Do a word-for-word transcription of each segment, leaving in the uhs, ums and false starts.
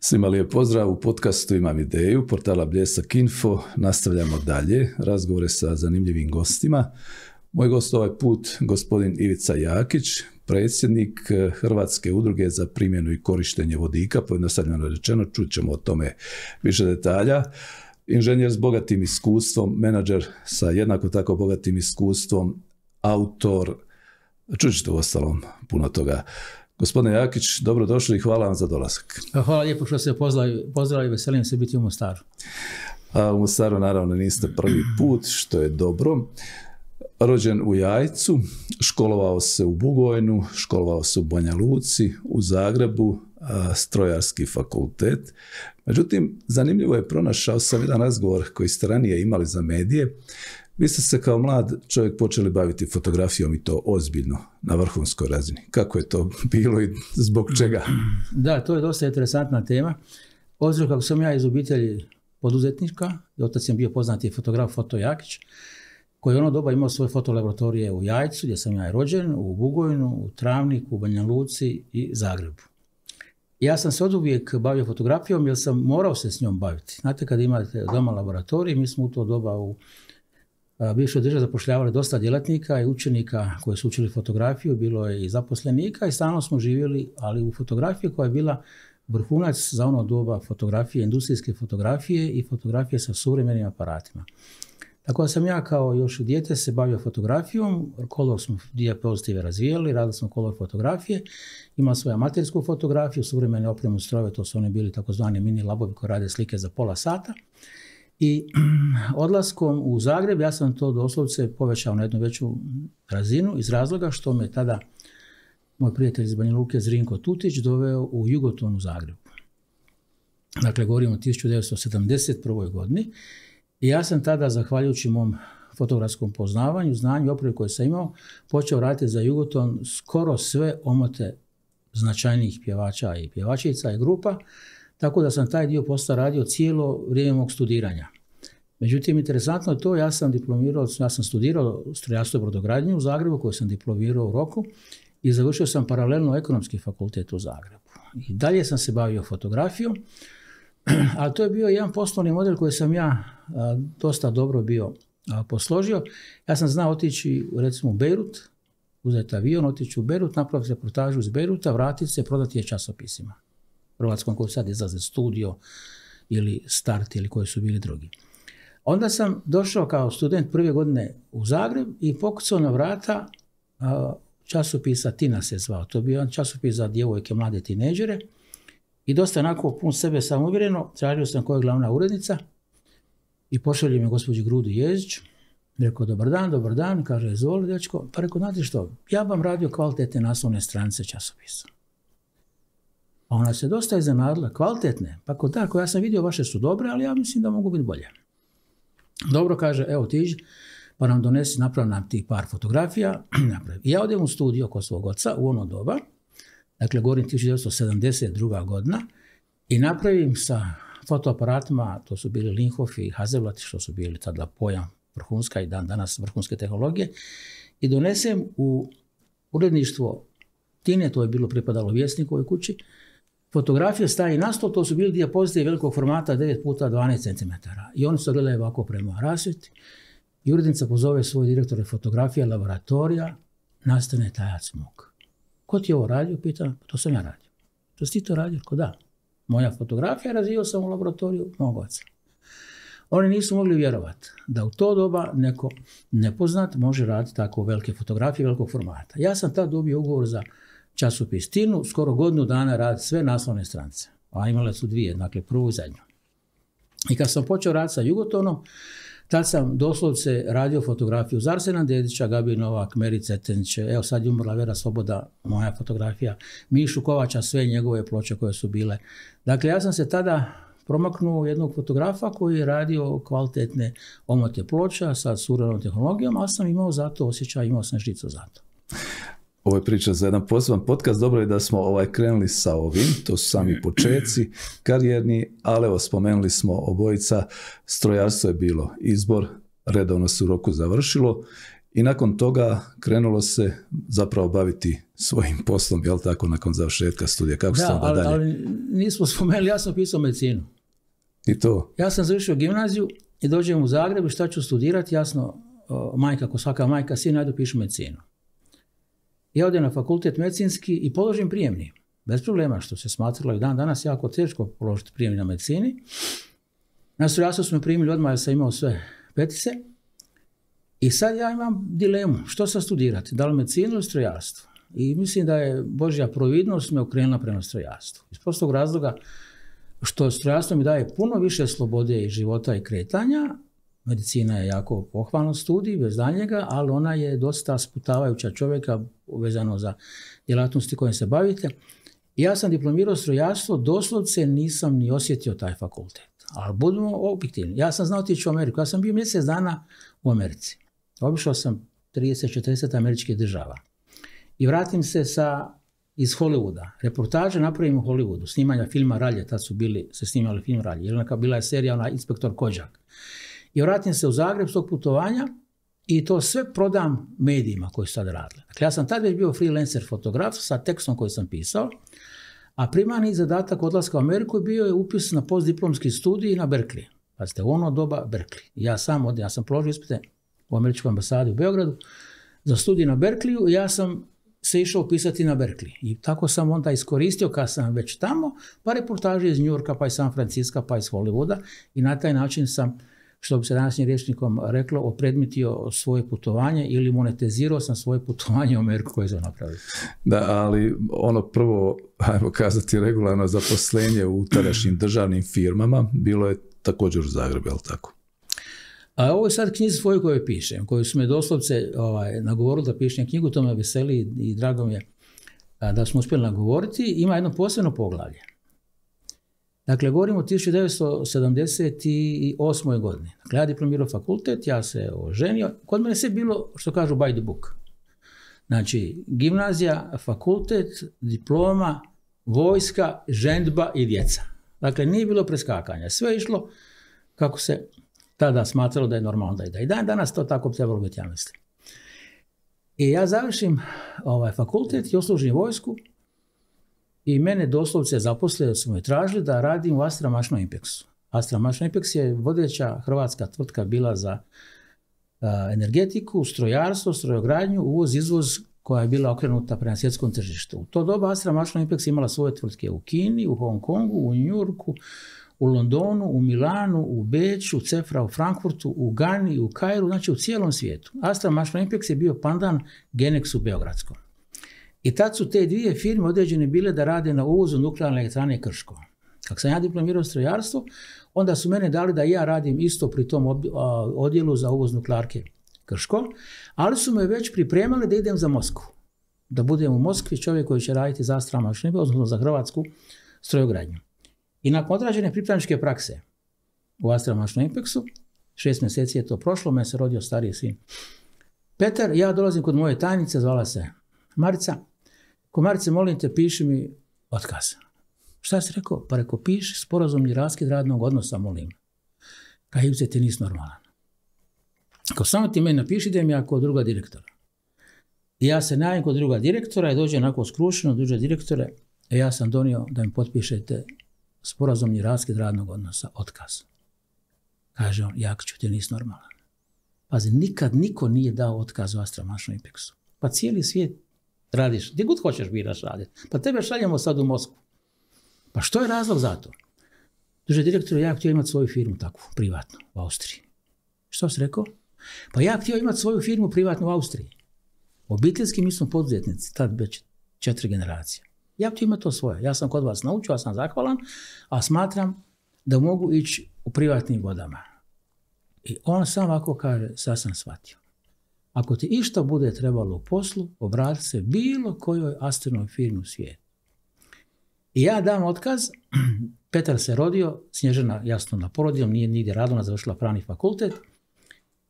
Svima lijep pozdrav, u podcastu Imam ideju, portala Bljesak Info. Nastavljamo dalje, razgovore sa zanimljivim gostima. Moj gost ovaj put, gospodin Ivica Jakić, predsjednik Hrvatske udruge za primjenu i korištenje vodika, pojednostavljeno rečeno, čut ćemo o tome više detalja. Inženjer s bogatim iskustvom, menadžer sa jednako tako bogatim iskustvom, autor, čut ćete u ostalom puno toga. Gospodine Jakić, dobrodošli i hvala vam za dolazak. Hvala lijepo što ste pozdravili, veselim se biti u Mostaru. A u Mostaru naravno niste prvi put, što je dobro. Rođen u Jajcu, školovao se u Bugojnu, školovao se u Banja Luci, u Zagrebu, strojarski fakultet. Međutim, zanimljivo je, pronašao sam jedan razgovor koji ste ranije imali za medije. Vi ste se kao mlad čovjek počeli baviti fotografijom i to ozbiljno, na vrhunskoj razini. Kako je to bilo i zbog čega? Da, to je dosta interesantna tema. Obzirom kako sam ja iz obitelji poduzetnička, otac je bio poznati fotograf Foto Jakić, koji je ono doba imao svoje fotolaboratorije u Jajcu, gdje sam ja rođen, u Bugojnu, u Travniku, u Banja Luci i Zagrebu. Ja sam se oduvijek bavio fotografijom jer sam morao se s njom baviti. Znate, kad imate doma laboratorij, mi smo u to doba u bivšoj državi zapošljavali dosta djelatnika i učenika koji su učili fotografiju, bilo je i zaposlenika i stalno smo živjeli, ali u fotografiji koja je bila vrhunac za ono doba fotografije, industrijske fotografije i fotografije sa suvremenim aparatima. Tako da sam ja kao još dijete se bavio fotografijom, kolor smo dijapozitive razvijali, radili smo kolor fotografije, imao svoju amatersku fotografiju, suvremene opremu strojeve, to su oni bili takozvani mini labovi koji rade slike za pola sata. I odlaskom u Zagreb ja sam to doslovce povećao na jednu veću razinu iz razloga što me tada moj prijatelj iz Banja Luke Zrinko Tutić doveo u Jugoton u Zagrebu. Dakle, govorimo o tisuću devetsto sedamdeset prvoj godini i ja sam tada, zahvaljujući mom fotografskom poznavanju, znanju i opremi koje sam imao, počeo raditi za Jugoton skoro sve omote značajnijih pjevača i pjevačica i grupa, tako da sam taj dio posla radio cijelo vrijeme mog studiranja. Međutim, interesantno je to, ja sam diplomirao, ja sam studirao strojarstvo i brodogradnju u Zagrebu, koju sam diplomirao u roku i završio sam paralelno ekonomski fakultet u Zagrebu. I dalje sam se bavio fotografijom, ali to je bio jedan poslovni model koji sam ja a, dosta dobro bio a, posložio. Ja sam znao otići recimo u Beirut, uzeti avion, otići u Beirut, napraviti reportažu iz Beiruta, vratiti se, prodati je časopisima. Hrvatskom koji sad izlaze Studio ili Start ili koji su bili drugi. Onda sam došao kao student prve godine u Zagreb i pokucao na vrata a, časopisa Tina se zvao. To je bio jedan časopis za djevojke, mlade tinejdžere i dosta onako pun sebe samouvjereno tražio sam koja je glavna urednica i pošalje mi gospođi Grudu Jezić. Rekao, dobar dan, dobar dan, kaže, izvoli dečko. Pa rekao, znate što, ja vam radio kvalitetne naslovne stranice časopisa. A ona se dosta iznenadila, kvalitetne. Pa kod tako, ja sam vidio vaše su dobre, ali ja mislim da mogu biti bolje. Dobro, kaže, evo tiđi, pa nam donesi, napravi nam tih par fotografija. I ja odem u studio kod svog oca u ono doba, dakle, govorim tisuću devetsto sedamdeset druga godina, i napravim sa fotoaparatima, to su bili Linhof i Hasselblad, što su bili tada pojam vrhunska i dan danas vrhunske tehnologije, i donesem u uredništvo Tine, to je bilo pripadalo Vjesnikovoj kući, fotografije staje na stol, to su bili dijapozitive velikog formata devet puta dvanaest centimetara. I oni su gledali ovako prema rasvjeti. I urednica pozove svoje direktore fotografije, laboratorija, nastane tajac muk. Ko ti je ovo radio? Pita, to sam ja radio. Što si ti to radio? Ko da? Moja fotografija, razvio sam u laboratoriju mog oca. Oni nisu mogli vjerovati da u to doba neko nepoznat može raditi tako velike fotografije velikog formata. Ja sam tad dobio ugovor za časopis Tinu, skoro godinu dana raditi sve naslovne stranice. A imale su dvije, dakle prvu i zadnju. I kad sam počeo raditi sa Jugotonom, tad sam doslovce radio fotografiju za Arsena Dedića, Gabi Novak, Meri Cetenić, evo sad je umrla Vera Svoboda, moja fotografija, Mišu Kovača, sve njegove ploče koje su bile. Dakle, ja sam se tada promaknuo jednog fotografa koji je radio kvalitetne omote ploča sa suvremenom tehnologijom, ali sam imao za to osjećaj, imao sam žicu za to. Ovo je priča za jedan poseban podcast. Dobro je da smo ovaj krenuli sa ovim, to su sami počeci karijerni, ali evo spomenuli smo obojica, strojarstvo je bilo izbor, redovno se u roku završilo i nakon toga krenulo se zapravo baviti svojim poslom, jel tako, nakon završetka studija. Kako ste onda ali, dalje? ali nismo spomenuli, ja sam pisao medicinu. I to? Ja sam završio gimnaziju i dođem u Zagreb i šta ću studirati, jasno, majka, ako svaka majka, sin najdu pišu medicinu. Ja odem na fakultet medicinski i položim prijemni. Bez problema, što se smatralo i dan danas jako teško položiti prijemni na medicini. Na strojarstvo smo primili odmah, jer sam imao sve petice. I sad ja imam dilemu, što sad studirati, da li medicinu ili strojarstvo. I mislim da je Božja providnost me okrenula prema strojarstvu. Iz prostog razloga što strojarstvo mi daje puno više slobode i života i kretanja. Medicina je jako pohvalan studij, bez daljnjega, ali ona je dosta sputavajuća čovjeka vezano za djelatnosti kojim se bavite. Ja sam diplomirao strojarstvo, doslovce nisam ni osjetio taj fakultet. Ali budemo objektivni. Ja sam znao otići u Ameriku. Ja sam bio mjesec dana u Americi. Obišao sam trideset četrdeset američkih država. I vratim se sa, iz Hollywooda. Reportaže napravim u Hollywoodu. Snimanja filma Ralje. Tad su bili, se snimali film Ralje. Jer neka bila je serija ona Inspektor Kođak. I vratim se u Zagreb s tog putovanja i to sve prodam medijima koji su tad radili. Dakle, ja sam tad već bio freelancer fotograf sa tekstom koji sam pisao, a primarni zadatak odlaska u Ameriku bio je upis na postdiplomski studij na Berkeley. Pazite, u ono doba Berkeley. Ja sam od, ja sam položio ispite u američkoj ambasadi u Beogradu za studij na Berkeleyu i ja sam se išao upisati na Berkeley. I tako sam onda iskoristio kad sam već tamo, pa reportaže iz New Yorka, pa iz San Francisca, pa iz Hollywooda i na taj način sam, što bi se današnjim rječnikom reklo, opredmetio svoje putovanje ili monetizirao sam svoje putovanje u Ameriku koje sam napravio. Da, ali ono prvo, ajmo kazati, regularno zaposlenje u tadašnjim državnim firmama bilo je također u Zagrebu, je li tako? A ovo je sad knjizi svoju koju pišem, koju su me doslovce ovaj, nagovorili da pišem knjigu, to me veseli i drago mi je da smo uspjeli nagovoriti. Ima jedno posebno poglavlje. Dakle, govorimo o tisuću devetsto sedamdeset osmoj godini. Dakle, ja diplomirao fakultet, ja se oženio. Kod mene sve bilo, što kažu, by the book. Znači, gimnazija, fakultet, diploma, vojska, ženidba i djeca. Dakle, nije bilo preskakanja. Sve je išlo kako se tada smatralo da je normalno da ide. I dan danas to tako trebalo biti, ja mislim. I ja završim ovaj fakultet i odslužim vojsku. I mene doslovce zaposlili, su me tražili da radim u Astra Mašno Impexu. Astra Mašno Impex je vodeća hrvatska tvrtka bila za uh, energetiku, strojarstvo, strojogradnju, uvoz, izvoz koja je bila okrenuta prema svjetskom tržištu. U to doba Astra Mašno Impex imala svoje tvrtke u Kini, u Hong Kongu, u New Yorku, u Londonu, u Milanu, u Beču, Cefra u Frankfurtu, u Gani, u Kairu, znači u cijelom svijetu. Astra Mašno Impex je bio pandan Genexu beogradskom. I tad su te dvije firme određene bile da rade na uvozu nuklearne elektrane Krško. Kako sam ja diplomirao strojarstvo, onda su mene dali da ja radim isto pri tom odjelu za uvoz nuklearke Krško, ali su me već pripremali da idem za Moskvu. Da budem u Moskvi čovjek koji će raditi za Astra Mašno Impex, odnosno za hrvatsku strojogradnju. I nakon odrađene pripravničke prakse u Astra Mašno Impexu, šest mjeseci je to prošlo, me se rodio stariji sin Petar, ja dolazim kod moje tajnice, zvala se Marica. Ko Marice, molim te, piši mi otkaz. Šta si rekao? Pa rekao, piši sporazumni raskid radnog odnosa, molim. Kaj Ivice, ti nisi normalan. Ako samo ti meni napiši, idem ja kod druga direktora. I ja se najavim kod druga direktora i dođe onako skrušeno, druže direktore, e ja sam donio da mi potpišete sporazumni raskid radnog odnosa, otkaz. Kaže on, Jakiću, ti nisi normalan. Pazi, nikad niko nije dao otkaz u Astra Mašno Impexu. Pa cijeli svijet radiš, gdje god hoćeš biraš raditi. Pa tebe šaljemo sad u Moskvu. Pa što je razlog za to? Druže direktor, ja htio imati svoju firmu takvu, privatnu, u Austriji. Što si rekao? Pa ja htio imati svoju firmu privatnu u Austriji. Obiteljski mi smo poduzetnici, tad već četiri generacije. Ja htio imati to svoje. Ja sam kod vas naučio, ja sam zahvalan, a smatram da mogu ići u privatnim vodama. I on sam ovako kaže, sad sam shvatio. Ako ti išta bude trebalo u poslu, obrati se bilo kojoj Astrinoj firmi u svijetu. I ja dam otkaz, Petar se rodio, Snježana jasno na porodilom, nije nigdje radila, završila pravni fakultet.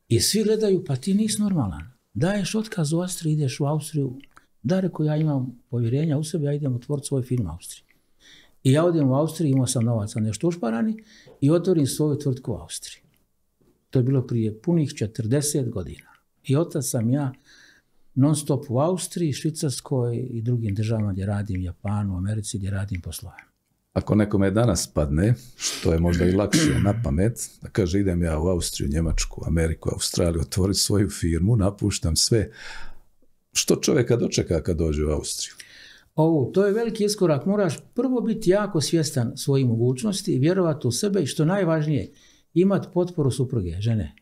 I svi gledaju, pa ti nisi normalan. Daješ otkaz u Austriji, ideš u Austriju. Da, reko, ja imam povjerenja u sebi, ja idem otvoriti svoj firmu u Austriji. I ja odem u Austriji, imao sam novaca nešto ušparani i otvorim svoju tvrtku u Austriji. To je bilo prije punih četrdeset godina. I otac sam ja non stop u Austriji, Švicarskoj i drugim državama gdje radim, Japanu, Americi gdje radim poslove. Ako nekome danas padne, što je možda i lakše na pamet, da kaže idem ja u Austriju, Njemačku, Ameriku, Australiju, otvoriti svoju firmu, napuštam sve, što čovjeka dočeka kad dođe u Austriju? O, to je veliki iskorak. Moraš prvo biti jako svjestan svojih mogućnosti i vjerovati u sebe i što najvažnije, imati potporu supruge, žene.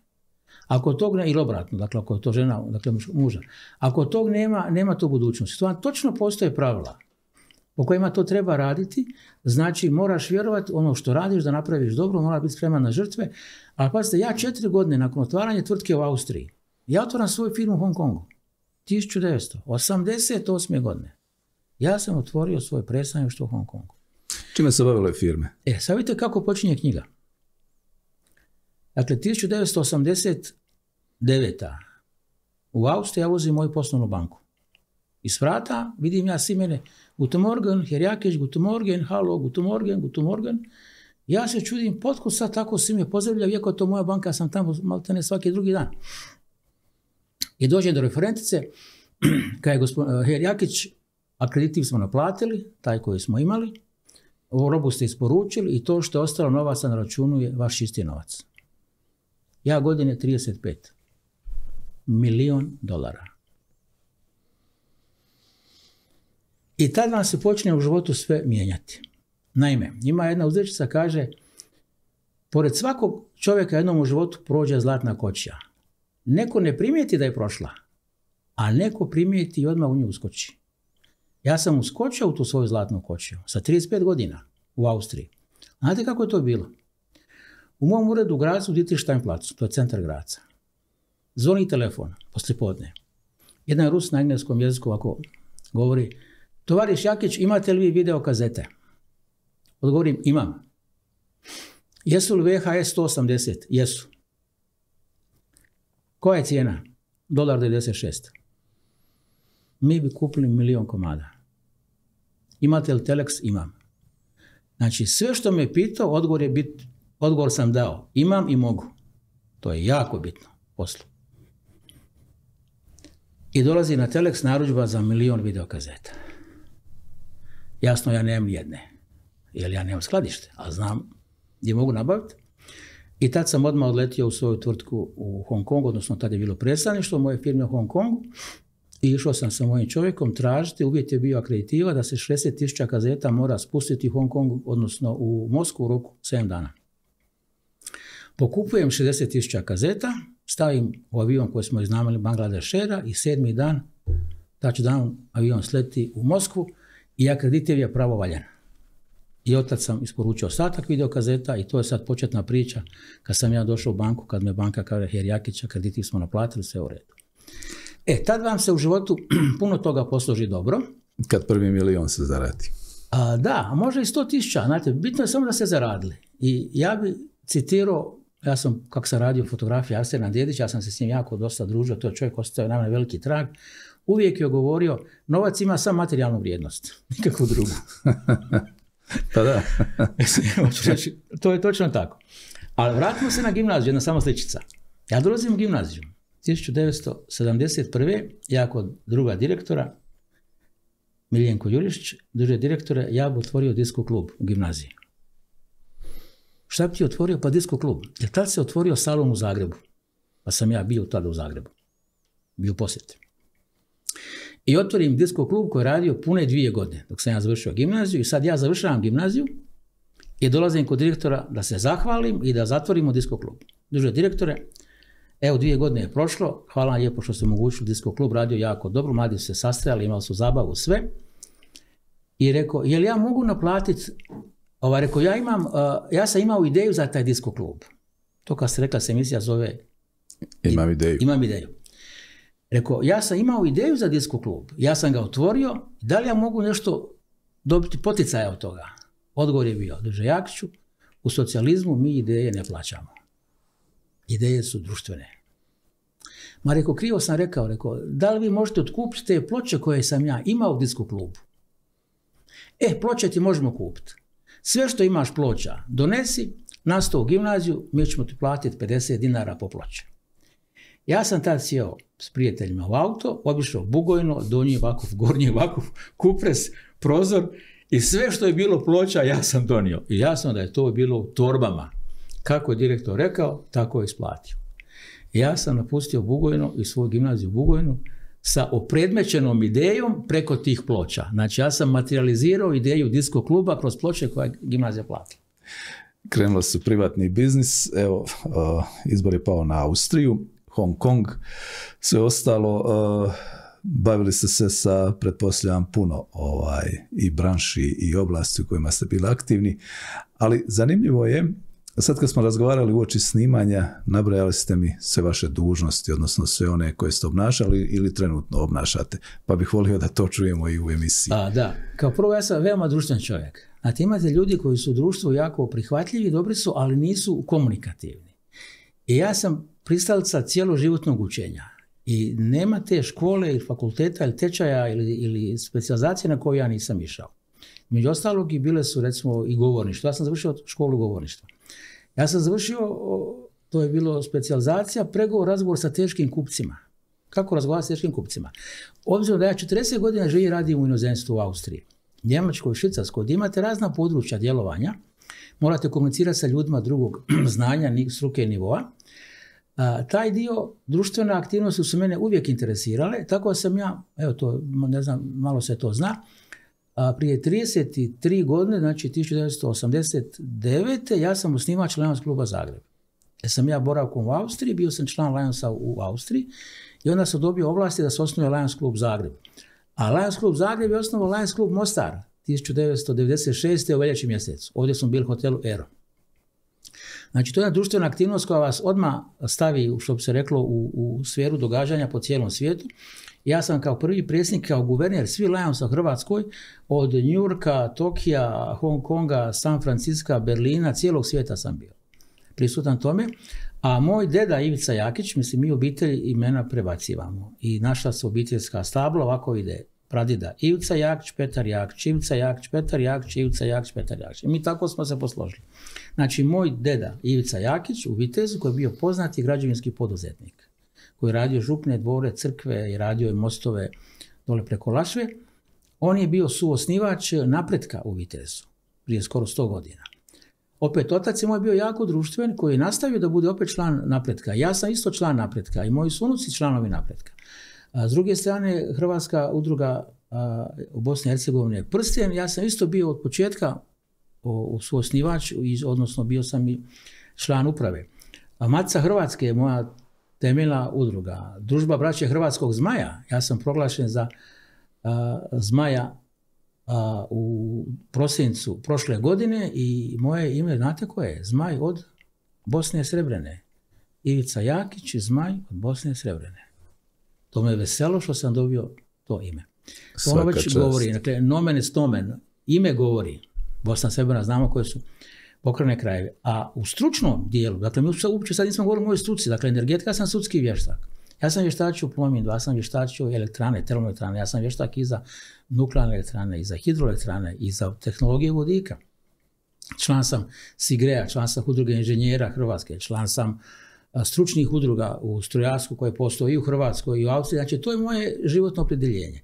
Ako tog ne, ili obratno, dakle ako je to žena, dakle muža, ako tog nema, nema to budućnosti. To vam točno postoje pravila po kojima to treba raditi, znači moraš vjerovati ono što radiš, da napraviš dobro, mora biti spreman na žrtve, ali pazite, ja četiri godine nakon otvaranja tvrtke u Austriji, ja otvaram svoju firmu u Hong Kongu, tisuću devetsto osamdeset osme. godine. Ja sam otvorio svoje predstavništvo u Hong Kongu. Čime se bavile firme? E, sad vidite kako počinje knjiga. Dakle, tisuću devetsto osamdeset devete. u Austriji ja ulazim u moju poslovnu banku. Iz vrata vidim ja svi mene, Guten Morgen, Herr Jakić, Guten Morgen, halo, Guten Morgen, Guten Morgen. Ja se čudim, potkud sad tako svi me pozdravljaju, iako je to moja banka, ja sam tamo maltene svaki drugi dan. I dođem do referentice, kada je gospodin Herr Jakić, akreditiv smo naplatili, taj koji smo imali, ovu robu ste isporučili i to što je ostalo novaca na računu je vaš čisti novac. Ja godine trideset pet. Milion dolara. I tad vam se počne u životu sve mijenjati. Naime, ima jedna uzrečica, kaže, pored svakog čovjeka jednom u životu prođe zlatna kočija. Neko ne primijeti da je prošla, a neko primijeti i odmah u nju uskoči. Ja sam uskočio u tu svoju zlatnu kočiju sa trideset pet godina u Austriji. Znate kako je to bilo? U mom uredu u Gracu, u Dietrichsteinplatzu, to je centar Graca. Zvoni telefon, poslijepodne. Jedan Rus na engleskom jeziku ovako govori, tovariš Jakić, imate li vi video kazete? Odgovorim, imam. Jesu li V H S sto osamdeset? Jesu. Koja je cijena? Dolar devedeset šest. Mi bi kupili milion komada. Imate li Telex? Imam. Znači, sve što me pitao, odgovor je bit, odgovor sam dao. Imam i mogu. To je jako bitno poslu. I dolazi na Telex narudžba za milion videokazeta. Jasno, ja nemam jedne. Jer ja nemam skladište, ali znam gdje mogu nabaviti. I tad sam odmah odletio u svoju tvrtku u Hong Kongu, odnosno tad je bilo predstavništvo moje firme u Hong Kongu. I išao sam sa mojim čovjekom tražiti, uvjet je bio akreditiva da se šezdeset tisuća kazeta mora spustiti u Hong Kongu, odnosno u Moskvu u roku sedam dana. Pokupujem šezdeset tisuća kazeta, stavim u avion koji smo iznajmili Bangladešera i sedmi dan, touchdown, avion sleti u Moskvu i akreditiv je pravovaljan. I otad sam isporučio ostatak videokazeta i to je sad početna priča. Kad sam ja došao u banku, kad me banka kaže Herr Jakić, akreditiv smo naplatili, sve u redu. E, tad vam se u životu puno toga posloži dobro. Kad prvi milion se zaradi. A, da, a možda i sto tisuća. Znate, bitno je samo da se zaradili. I ja bi citirao, ja sam, kako sam radio fotografiju Arsena Dedića, ja sam se s njim jako dosta družio, to je čovjek ostavio na mene veliki trag. Uvijek je govorio, novac ima samo materijalnu vrijednost, nikakvu drugu. Pa da. To je točno tako. Ali vratimo se na gimnaziju, jedna samo sličica. Ja dolazim u gimnaziju. tisuću devetsto sedamdeset prve. ja kod druga direktora, Miljenko Jurišić, druže direktore, ja bi otvorio disko klub u gimnaziji. Šta bi ti otvorio? Pa disko klub. Jer tad se otvorio salon u Zagrebu. Pa sam ja bio tada u Zagrebu. Bio u posjeti. I otvorim disko klub koji je radio pune dvije godine dok sam ja završio gimnaziju i sad ja završavam gimnaziju i dolazim kod direktora da se zahvalim i da zatvorimo disko klub. Druže direktore, evo dvije godine je prošlo, hvala vam lijepo što ste omogućili disko klub, radio jako dobro, mladi su se sastajali, imali su zabavu, sve. I rekao, jel ja mogu naplatiti, ovaj, rekao, ja imam, uh, ja sam imao ideju za taj disko klub. To kad ste rekla se emisija zove... Imam ideju. Imam ideju. Rekao, ja sam imao ideju za disko klub, ja sam ga otvorio, da li ja mogu nešto dobiti poticaja od toga? Odgovor je bio, druže Jakiću, u socijalizmu mi ideje ne plaćamo. Ideje su društvene. Ma rekao, krivo sam rekao, rekao, da li vi možete otkupiti te ploče koje sam ja imao u disko klubu? E, ploče ti možemo kupiti. Sve što imaš ploča, donesi, na sto u gimnaziju, mi ćemo ti platiti pedeset dinara po ploče. Ja sam tad sjeo s prijateljima u auto, obišao Bugojno, Donji Vakuf, Gornji Vakuf, Kupres, Prozor i sve što je bilo ploča ja sam donio. I jasno da je to bilo u torbama. Kako je direktor rekao, tako je isplatio. Ja sam napustio Bugojno i svoju gimnaziju u Bugojnu sa opredmećenom idejom preko tih ploča. Znači ja sam materializirao ideju disko kluba kroz ploče koje je gimnazija platila. Krenulo su privatni biznis, evo, uh, izbor je pao na Austriju, Hong Kong, sve ostalo, uh, bavili ste se sa, pretpostavljam, puno ovaj, i branši i oblasti u kojima ste bili aktivni, ali zanimljivo je, sad kad smo razgovarali uoči snimanja, nabrajali ste mi sve vaše dužnosti, odnosno sve one koje ste obnašali ili trenutno obnašate, pa bih volio da to čujemo i u emisiji. A, da, kao prvo ja sam veoma društven čovjek. Znate, imate ljudi koji su u društvu jako prihvatljivi, dobri su, ali nisu komunikativni. I ja sam pristalica cjeloživotnog učenja. I nema te škole ili fakulteta ili tečaja ili, ili specijalizacije na koju ja nisam išao. Među ostalog i bile su recimo i govorništvo. Ja sam završio školu govorništva. Ja sam završio, to je bilo specijalizacija, pregovor, razgovor sa teškim kupcima. Kako razgovarati s teškim kupcima? Obzirom da ja četrdeset godina živim i radim u inozemstvu u Austriji, Njemačkoj, Švicarskoj, gdje imate razna područja djelovanja, morate komunicirati sa ljudima drugog znanja, struke i nivoa. A, taj dio društvene aktivnosti su mene uvijek interesirale, tako da sam ja, evo to, ne znam, malo se to zna, a, prije trideset tri godine, znači tisuću devetsto osamdeset devete. ja sam osnivač Lions kluba Zagreb. Ja sam ja boravkom u Austriji, bio sam član Lionsa u Austriji i onda sam dobio ovlasti da se osnuje Lions klub Zagreb. A Lions klub Zagreb je osnovao Lions klub Mostar tisuću devetsto devedeset šeste. u veljači mjesecu. Ovdje smo bili u hotelu Ero. Znači, to je jedna društvena aktivnost koja vas odmah stavi, što bi se reklo, u, u sferu događanja po cijelom svijetu. Ja sam kao prvi predsjednik, kao guverner svi Lionsa u Hrvatskoj, od New Yorka, Tokija, Hong Konga, San Francisca, Berlina, cijelog svijeta sam bio prisutan tome. A moj deda Ivica Jakić, mislim, mi obitelji imena prebacivamo. I naša se obiteljska stabla ovako ide. Pradida Ivica Jakić, Petar Jakić, Ivica Jakić, Petar Jakić, Ivica Jakić, Petar Jakić. I mi tako smo se posložili. Znači, moj deda Ivica Jakić u Vitezu, koji je bio poznati građevinski poduzetnik, koji je radio župne, dvore, crkve i radio je mostove dole preko Lašve, on je bio suosnivač Napretka u Vitezu prije skoro sto godina. Opet, otac je moj bio jako društven, koji je nastavio da bude opet član Napretka. Ja sam isto član Napretka i moji su unuci članovi Napretka. A s druge strane, Hrvatska udruga a, u Bosni i Hercegovini je Prsten. Ja sam isto bio od početka o, suosnivač, odnosno bio sam i član uprave. A Matica Hrvatske je moja temeljna udruga. Družba braće Hrvatskog Zmaja. Ja sam proglašen za a, Zmaja a, u prosincu prošle godine i moje ime, znate koje je? Zmaj od Bosne Srebrene. Ivica Jakić, Zmaj od Bosne Srebrene. To me je veselo što sam dobio to ime. To ono već čast. Govori, dakle, nomen est omen, ime govori. Bosna Srebrena, znamo koje su pokrajne krajeve. A u stručnom dijelu, dakle, mi uopće sad nismo govorili o mojoj struci, dakle, energetika, sam sudski vještak. Ja sam vještačio Plomin dva, ja sam vještačio elektrane, termoelektrane, ja sam vještak i za nuklearne elektrane, i za hidroelektrane, i za tehnologije vodika. Član sam SIGREA, član sam udruge inženjera Hrvatske, član sam stručnih udruga u strojarstvu koje postoji i u Hrvatskoj i u Austriji. Znači, to je moje životno opredjeljenje.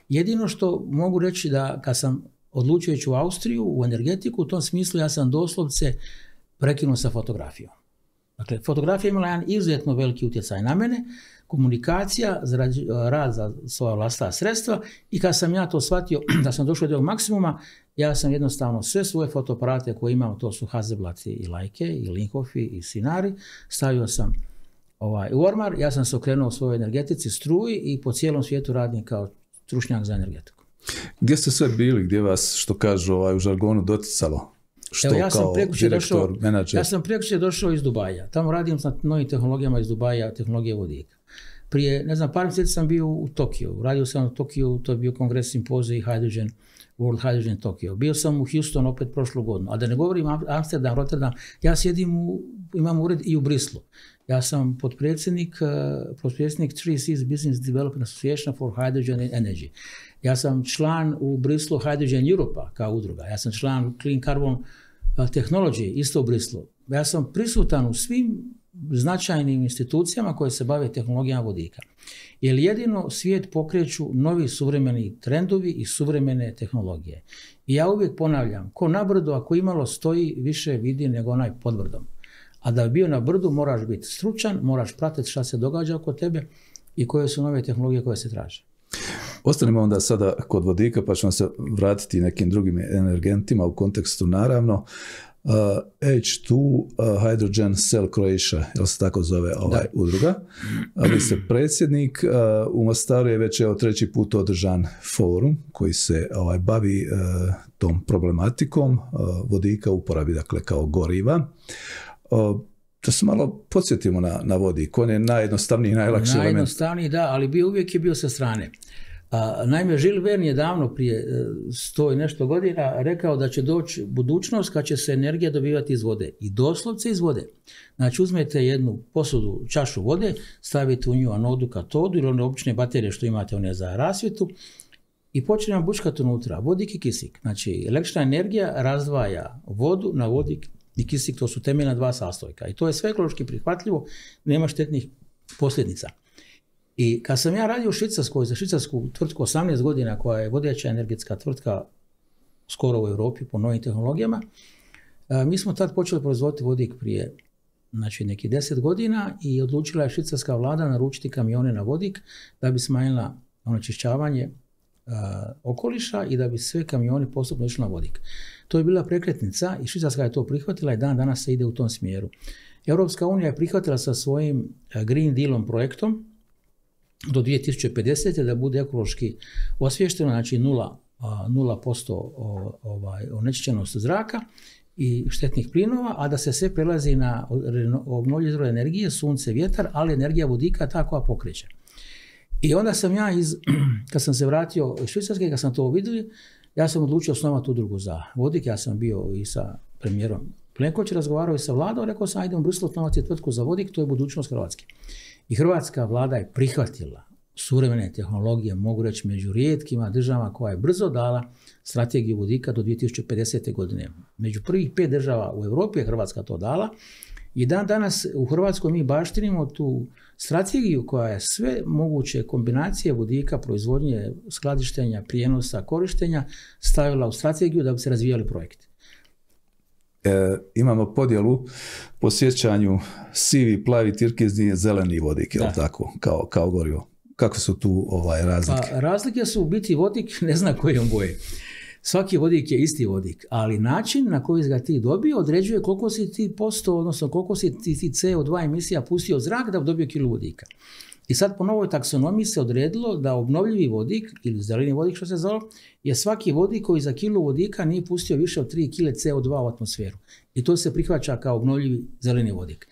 Jedino što mogu reći da kad sam odlučio ići u Austriju, u energetiku, u tom smislu ja sam doslovce prekinuo sa fotografijom. Dakle, fotografija imala jedan izuzetno veliki utjecaj na mene, komunikacija, rad za svoja vlastita sredstva i kad sam ja to shvatio da sam došao do ovog maksimuma, ja sam jednostavno sve svoje fotoaparate koje imam, to su Hasselblad i Leica i Linhofi i Sinari, stavio sam ovaj, u ormar, ja sam se okrenuo u svojoj energetici, struji i po cijelom svijetu radim kao stručnjak za energetiku. Gdje ste sve bili, gdje vas, što kažu ovaj, u žargonu, doticalo? Što Evo, ja kao sam direktor, došao, menadžer? Ja sam prekuće došao iz Dubaja. Tamo radim na novim tehnologijama iz Dubaja, tehnologije vodika. Prije, ne znam, par mjeseci sam bio u Tokiju. Radio sam u Tokiju, to je bio kongres simpozij Hydrogen, World Hydrogen Tokyo. Bio sam u Houston opet prošlu godinu. A da ne govorim Amsterdam, Rotterdam, ja sjedim u, imam ured i u Brislu. Ja sam potpredsjednik, uh, potpredsjednik three C's Business Development Association for Hydrogen and Energy. Ja sam član u Brislu Hydrogen Europa kao udruga. Ja sam član Clean Carbon Technology isto u Brislu. Ja sam prisutan u svim značajnim institucijama koje se bave tehnologijama vodika. Jer jedino svijet pokreću novi suvremeni trendovi i suvremene tehnologije. I ja uvijek ponavljam, ko na brdu ako imalo stoji, više vidi nego onaj pod brdom. A da bi bio na brdu moraš biti stručan, moraš pratiti šta se događa oko tebe i koje su nove tehnologije koje se traže. Ostanimo onda sada kod vodika, pa ćemo se vratiti nekim drugim energentima u kontekstu naravno. Uh, H dva uh, Hydrogen Cell Croatia, jel se tako zove ovaj da. udruga. A vi ste predsjednik, uh, u Mostaru je već evo treći put održan forum koji se ovaj, bavi uh, tom problematikom uh, vodika u uporabi, dakle kao goriva. Uh, da se malo podsjetimo na, na vodik, on je najjednostavniji, najlakši element. Najjednostavniji, da, ali bio, uvijek je bio sa strane. A, naime, Jules Verne je davno prije sto i nešto godina rekao da će doći budućnost kad će se energija dobivati iz vode. I doslovce iz vode. Znači uzmete jednu posudu, čašu vode, stavite u nju anodu, katodu ili one obične baterije što imate one za rasvjetu i počne vam bučkati unutra vodik i kisik. Znači električna energija razdvaja vodu na vodik i kisik, to su temeljna dva sastojka. I to je sve ekološki prihvatljivo, nema štetnih posljedica. I kad sam ja radio u Švicarskoj, za švicarsku tvrtku osamnaest godina, koja je vodeća energetska tvrtka skoro u Europi po novim tehnologijama, mi smo tad počeli proizvoditi vodik prije znači, nekih deset godina i odlučila je švicarska vlada naručiti kamione na vodik da bi smanjila onečišćavanje uh, okoliša i da bi sve kamioni postupno išli na vodik. To je bila prekretnica i Švicarska je to prihvatila i dan danas se ide u tom smjeru. Europska unija je prihvatila sa svojim Green Dealom projektom do dvije tisuće pedesete da bude ekološki osviješteno, znači nula posto ovaj, onečišćenost zraka i štetnih plinova, a da se sve prelazi na obnovljive izvore energije, sunce, vjetar, ali energija vodika ta koja pokreće. I onda sam ja, iz, kad sam se vratio iz Švicarske, kad sam to vidio, ja sam odlučio osnovati udrugu za vodik. Ja sam bio i sa premijerom Plenković, razgovarao i sa vladom, rekao sam, ajde u Briselu osnovati tvrtku za vodik, to je budućnost Hrvatske. I hrvatska vlada je prihvatila suvremene tehnologije, mogu reći među rijetkima državama koja je brzo dala strategiju vodika do dvije tisuće pedesete godine. Među prvih pet država u Europi je Hrvatska to dala i dan danas u Hrvatskoj mi baštinimo tu strategiju koja je sve moguće kombinacije vodika, proizvodnje, skladištenja, prijenosa, korištenja stavila u strategiju da bi se razvijali projekti. E, imamo podjelu po sjećanju sivi, plavi, tirkizni, zeleni vodik, je li tako, kao, kao gorivo. Kako su tu ovaj, razlike? Pa, razlike su u biti vodik, ne zna kojom boje. Svaki vodik je isti vodik, ali način na koji ga ti dobio određuje koliko si ti posto, odnosno koliko si ti, ti C O dva emisija pustio zrak da bi dobio kilu vodika. I sad po novoj taksonomiji se odredilo da obnovljivi vodik, ili zeleni vodik što se zove, je svaki vodik koji za kilu vodika nije pustio više od tri kile C O dva u atmosferu. I to se prihvaća kao obnovljivi zeleni vodik.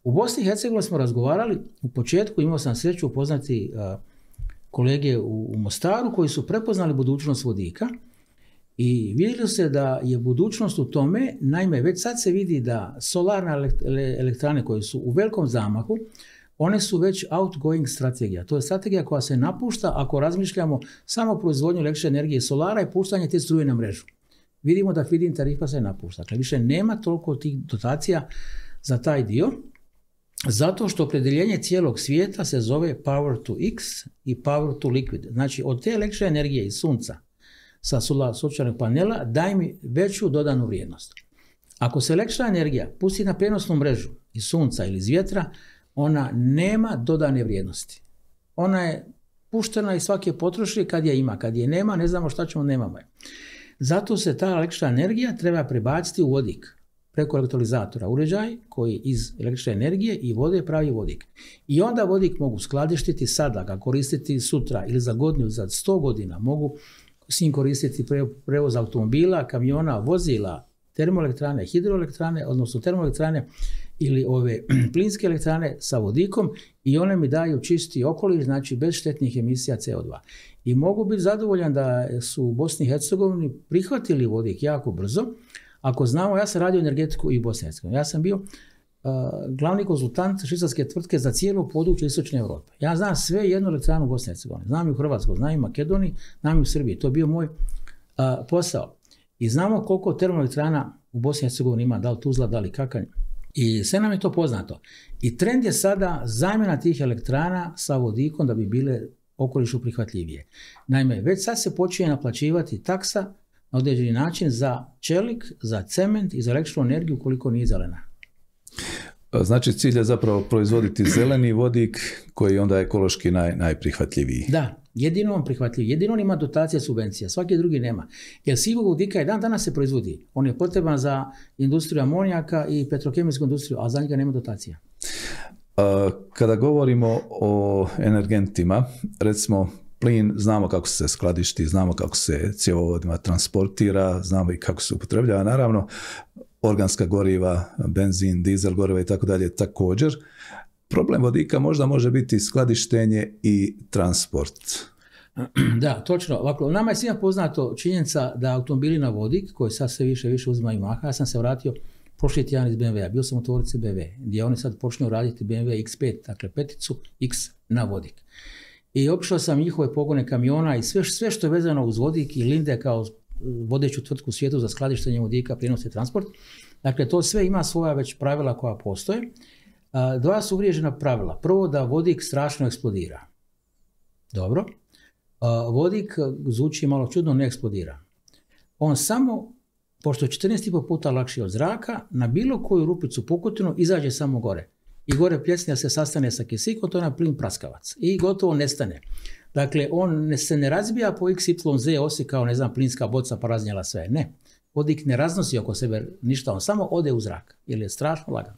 U Bosni i Hercegovini smo razgovarali, u početku imao sam sreću upoznati uh, kolege u, u Mostaru koji su prepoznali budućnost vodika i vidjeli se da je budućnost u tome, naime već sad se vidi da solarne elektrane koje su u velikom zamahu, one su već outgoing strategija. To je strategija koja se napušta ako razmišljamo samo o proizvodnju električne energije solara i puštanje te struje na mrežu. Vidimo da feed-in tarifa se napušta. Dakle, više nema toliko tih dotacija za taj dio, zato što opredjeljenje cijelog svijeta se zove power to x i power to liquid. Znači, od te električne energije iz sunca sa sunčanog panela daj mi veću dodanu vrijednost. Ako se električna energija pusti na prenosnu mrežu iz sunca ili iz vjetra, ona nema dodane vrijednosti. Ona je puštena i svaki je potroši kad je ima. Kad je nema, ne znamo šta ćemo, nemamo je. Zato se ta električna energija treba prebaciti u vodik preko elektrolizatora, uređaj koji iz električne energije i vode pravi vodik. I onda vodik mogu skladištiti sada, ga koristiti sutra ili za godinu, za sto godina. Mogu s njim koristiti prevoz automobila, kamiona, vozila, termoelektrane, hidroelektrane, odnosno termoelektrane ili ove plinske elektrane sa vodikom i one mi daju čisti okoliš, znači bez štetnih emisija C O dva. I mogu biti zadovoljan da su u Bosni i Hercegovini prihvatili vodik jako brzo. Ako znamo, ja sam radio energetiku i u Bosni i Hercegovini. Ja sam bio uh, glavni konzultant švicarske tvrtke za cijelo područje Istočne Europe. Ja znam sve jednu elektranu u Bosni i Hercegovini. Znam i u Hrvatskoj, znam i u Makedoniji, znam i u Srbiji. To je bio moj uh, posao. I znamo koliko termoelektrana u Bosni i Hercegovini ima, da li Tuzla, da li Kakanj I sve nam je to poznato. I trend je sada zamjena tih elektrana sa vodikom da bi bile okolišu prihvatljivije. Naime, već sad se počinje naplaćivati taksa na određeni način za čelik, za cement i za električnu energiju koliko nije zelena. Znači cilj je zapravo proizvoditi zeleni vodik koji je onda ekološki naj, najprihvatljiviji. Da, jedino on prihvatljiv, jedino on ima dotacija subvencija, svaki drugi nema. Jer sivog vodika i dan danas se proizvodi. On je potreban za industriju amonijaka i petrokemijsku industriju, a za njega nema dotacija. Kada govorimo o energentima, recimo plin, znamo kako se skladišti, znamo kako se cjevovodima transportira, znamo i kako se upotrebljava, naravno organska goriva, benzin, dizel goriva i tako dalje također. Problem vodika možda može biti skladištenje i transport. Da, točno. Ovako, nama je svima poznato činjenica da automobili na vodik, koji sad sve više više uzimaju maha, ja sam se vratio prošli tjedan iz B M W-a, bio sam u tvornici B M W, gdje oni sad počinju raditi B M W X pet, dakle peticu X na vodik. I obišao sam njihove pogone kamiona i sve, sve što je vezano uz vodik i Linde kao vodeću tvrtku u svijetu za skladištenje vodika, prijenos i transport. Dakle, to sve ima svoja već pravila koja postoje. Dva su uvriježena pravila. Prvo, da vodik strašno eksplodira. Dobro. Vodik zvuči malo čudno, ne eksplodira. On samo, pošto je četrnaest i pol puta lakši od zraka, na bilo koju rupicu pukotinu izađe samo gore. I gore pljesnija se sastane sa kisikom, to je na plin praskavac. I gotovo nestane. Dakle, on ne, se ne razbija po iks ipsilon zet osi kao, ne znam, plinska boca pa raznijela sve. Ne. Vodik ne raznosi oko sebe ništa, on samo ode u zrak, jer je strašno lagan.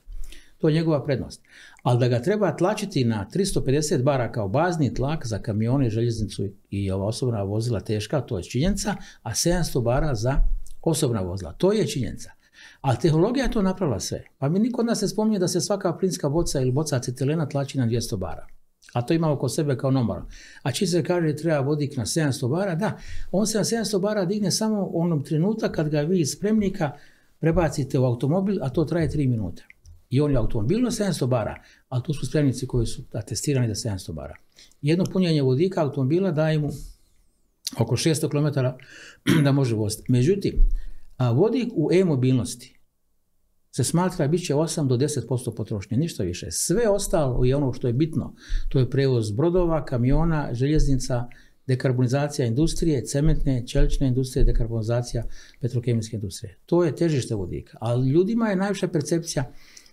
To je njegova prednost. Ali da ga treba tlačiti na tristo pedeset bara kao bazni tlak za kamione, željeznicu i ova osobna vozila teška, to je činjenica, a sedamsto bara za osobna vozila. To je činjenica. Ali tehnologija je to napravila sve. Pa mi niko od nas ne spominje da se svaka plinska boca ili boca acetilena tlači na dvjesto bara. A to ima oko sebe kao normalno. A čim se kaže treba vodik na sedamsto bara, da, on se na sedamsto bara digne samo u onom trenutka kad ga vi iz spremnika prebacite u automobil, a to traje tri minute. I on je automobil na sedamsto bara, ali tu su spremnici koji su atestirani za sedamsto bara. Jedno punjenje vodika automobila daje mu oko šesto kilometara da može voziti. Međutim, a vodik u e-mobilnosti se smatra bit će osam do deset posto potrošnje, ništa više. Sve ostalo je ono što je bitno. To je prevoz brodova, kamiona, željeznica, dekarbonizacija industrije, cementne, čelične industrije, dekarbonizacija petrokemijske industrije. To je težište vodika. Ali ljudima je najviša percepcija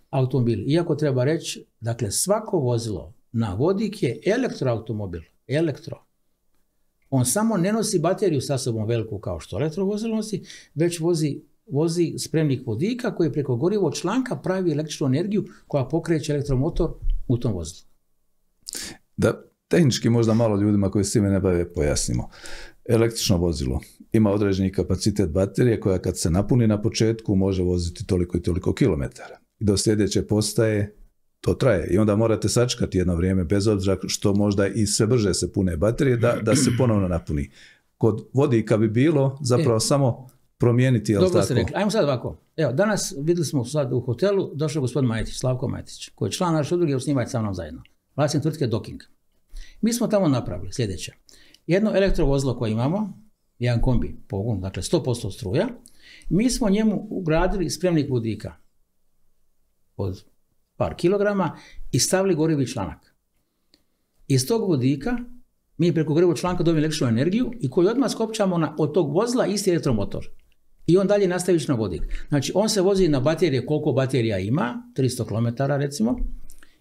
automobili. Iako treba reći, dakle, svako vozilo na vodik je elektroautomobil. Elektro. On samo ne nosi bateriju sa sobom veliku kao što elektrovozilo nosi, već vozi vozi spremnik vodika koji preko gorivog članka pravi električnu energiju koja pokreće elektromotor u tom vozilu. Da tehnički možda malo ljudima koji s time ne bave pojasnimo. Električno vozilo ima određeni kapacitet baterije koja kad se napuni na početku može voziti toliko i toliko kilometara. I do sljedeće postaje to traje. I onda morate sačekati jedno vrijeme bez obzira što možda i sve brže se pune baterije da, da se ponovno napuni. Kod vodika bi bilo zapravo e. samo promijeniti, jel Dobro tako? Ste rekli. Ajmo sad ovako. Evo, danas vidjeli smo sad u hotelu, došao gospodin Majetić, Slavko Majetić, koji je član naše udruge, osnivač sa mnom zajedno. Vlasnik tvrtke Docking. Mi smo tamo napravili sljedeće. Jedno elektrovozilo koje imamo, jedan kombi pogon, dakle sto posto struja, mi smo njemu ugradili spremnik vodika od par kilograma i stavili gorivi članak. Iz tog vodika mi preko gorivog članka dobijemo električnu energiju i koju odmah skopčamo na, od tog vozila isti elektromotor. I on dalje nastaviš na vodik. Znači, on se vozi na baterije, koliko baterija ima, tristo kilometara recimo,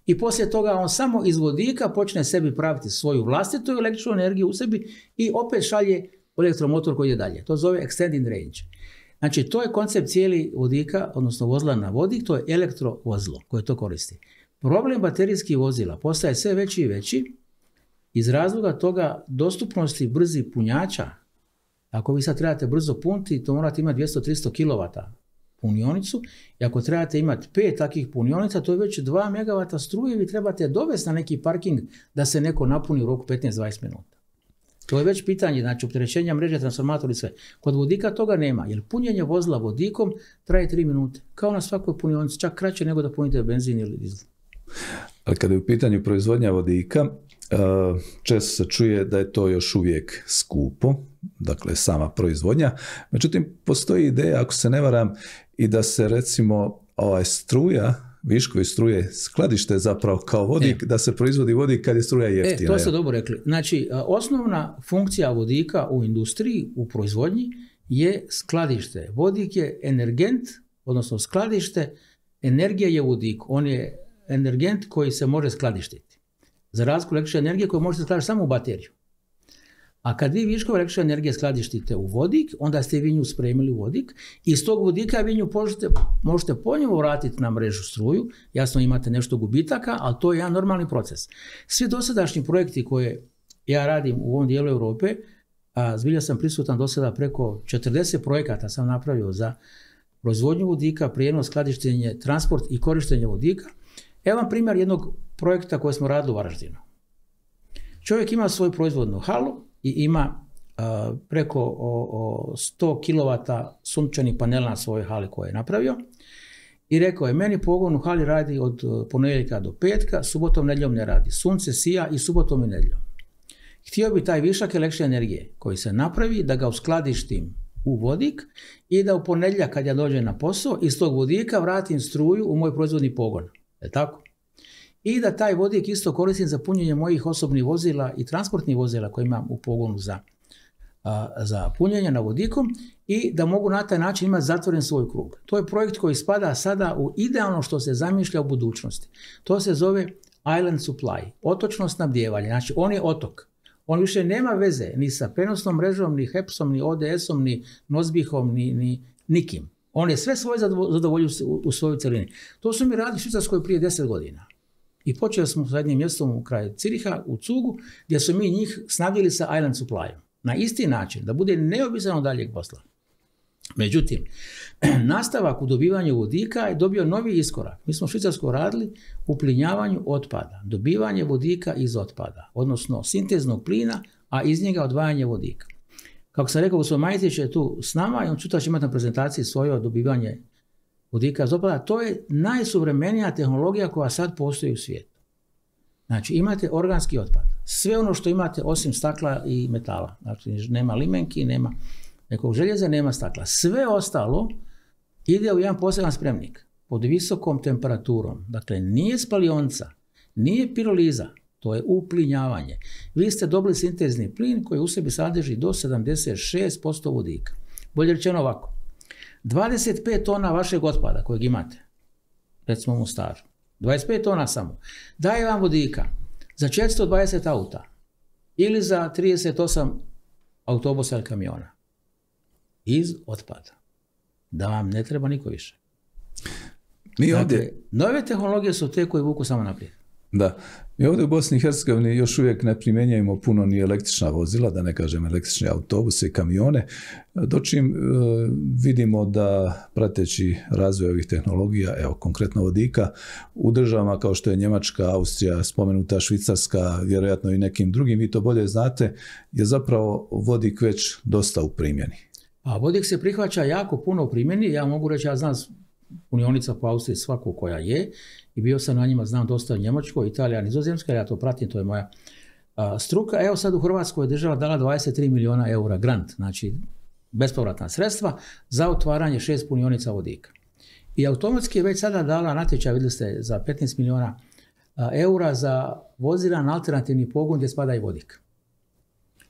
i poslije toga on samo iz vodika počne sebi praviti svoju vlastitu električnu energiju u sebi i opet šalje elektromotor koji je dalje. To zove extended range. Znači, to je koncept cijeli vodika, odnosno vozila na vodik, to je elektrovozilo koje to koristi. Problem baterijskih vozila postaje sve veći i veći iz razloga toga dostupnosti brzih punjača. Ako vi sad trebate brzo puniti, to morate imati dvjesto do tristo kilovata punionicu i ako trebate imati pet takvih punionica, to je već dva megavata struje, vi trebate dovesti na neki parking da se neko napuni u roku petnaest do dvadeset minuta. To je već pitanje, znači opterećenja mreže, transformator i sve. Kod vodika toga nema, jer punjenje vozila vodikom traje tri minute, kao na svakoj punionici, čak kraće nego da punite benzin ili dizel. Ali kada je u pitanju proizvodnja vodika, često se čuje da je to još uvijek skupo, dakle sama proizvodnja. Međutim, postoji ideja, ako se ne varam, i da se recimo ovaj struja viškovi struje skladište zapravo kao vodik, e. da se proizvodi vodik kad je struja jeftina. E, to ste dobro rekli. Znači, osnovna funkcija vodika u industriji, u proizvodnji je skladište. Vodik je energent, odnosno skladište, energija je vodik. On je energent koji se može skladištiti. Za razliku električne energije koju možete skladištiti samo u bateriju. A kad vi viškove električne energije skladištite u vodik, onda ste vi nju spremili u vodik i iz tog vodika vi nju možete, možete ponovo vratiti na mrežu struju. Jasno imate nešto gubitaka, ali to je jedan normalni proces. Svi dosadašnji projekti koje ja radim u ovom dijelu Europe, a zbilja sam prisutan do sada preko četrdeset projekata sam napravio za proizvodnju vodika, prijenos, skladištenje, transport i korištenje vodika. Evo vam primjer jednog projekta koji smo radili u Varaždinu. Čovjek ima svoju proizvodnu halu i ima uh, preko o, o sto kilovata sunčanih panela na svojoj hali koje je napravio. I rekao je, meni pogon u hali radi od ponedjeljka do petka, subotom, nedjeljom ne radi. Sunce sija i subotom i nedjeljom. Htio bi taj višak električne energije koji se napravi da ga uskladištim u vodik i da u ponedjeljak kad ja dođem na posao iz tog vodika vratim struju u moj proizvodni pogon. Je tako? I da taj vodik isto koristim za punjenje mojih osobnih vozila i transportnih vozila koje imam u pogonu za, a, za punjenje na vodikom i da mogu na taj način imati zatvoren svoj krug. To je projekt koji spada sada u idealno što se zamišlja u budućnosti. To se zove island supply, otočno snabdijevanje. Znači on je otok. On više nema veze ni sa prenosnom mrežom, ni hepsom, ni O D S-om, ni Nozbihom, ni, ni nikim. On je sve svoje zadovoljio u, u svojoj celini. To su mi radili u Švicarskoj prije deset godina. I počeli smo sa jednim mjestom u kraju Ciriha, u Cugu, gdje su mi njih snabdjeli sa island supplyom. Na isti način, da bude neobisan od daljeg posla. Međutim, nastavak u dobivanju vodika je dobio novi iskorak. Mi smo u Švicarskoj radili u plinjavanju otpada. Dobivanje vodika iz otpada, odnosno sinteznog plina, a iz njega odvajanje vodika. Kako sam rekao, gospodin Majtić je tu s nama i on sutra će imati na prezentaciji svoje dobivanje vodika iz otpada. To je najsuvremenija tehnologija koja sad postoji u svijetu. Znači imate organski otpad. Sve ono što imate osim stakla i metala. Znači nema limenki, nema nekog željeza, nema stakla. Sve ostalo ide u jedan poseban spremnik pod visokom temperaturom. Dakle, nije spalionica, nije piroliza, to je uplinjavanje. Vi ste dobili sintezni plin koji u sebi sadrži do sedamdeset šest posto vodika. Bolje rečeno ovako. dvadeset pet tona vašeg otpada kojeg imate, recimo u Mostaru, dvadeset pet tona samo, daje vam vodika za četiristo dvadeset auta ili za trideset osam autobusa ili kamiona. Iz otpada. Da vam ne treba niko više. Mi dakle, ovdje... nove tehnologije su te koje vuku samo naprijed. Da. Mi ovdje u Bosni i Hercegovini još uvijek ne primjenjujemo puno ni električna vozila, da ne kažem električne autobuse i kamione, dočim e, vidimo da prateći razvoj ovih tehnologija, evo konkretno vodika, u državama kao što je Njemačka, Austrija, spomenuta Švicarska, vjerojatno i nekim drugim, vi to bolje znate, je zapravo vodik već dosta u primjeni. A vodik se prihvaća jako puno u primjeni, ja mogu reći, ja znam punionica po Austriji svaku koja je i bio sam na njima, znam dosta u Njemačkoj, Italija, Nizozemska, ja to pratim, to je moja a, struka. Evo sad u Hrvatskoj je država dala dvadeset tri milijuna eura grant, znači bespovratna sredstva za otvaranje šest punionica vodika. I automatski je već sada dala natječaj, vidjeli ste, za petnaest milijuna a, eura za vozila na alternativni pogon gdje spada i vodik.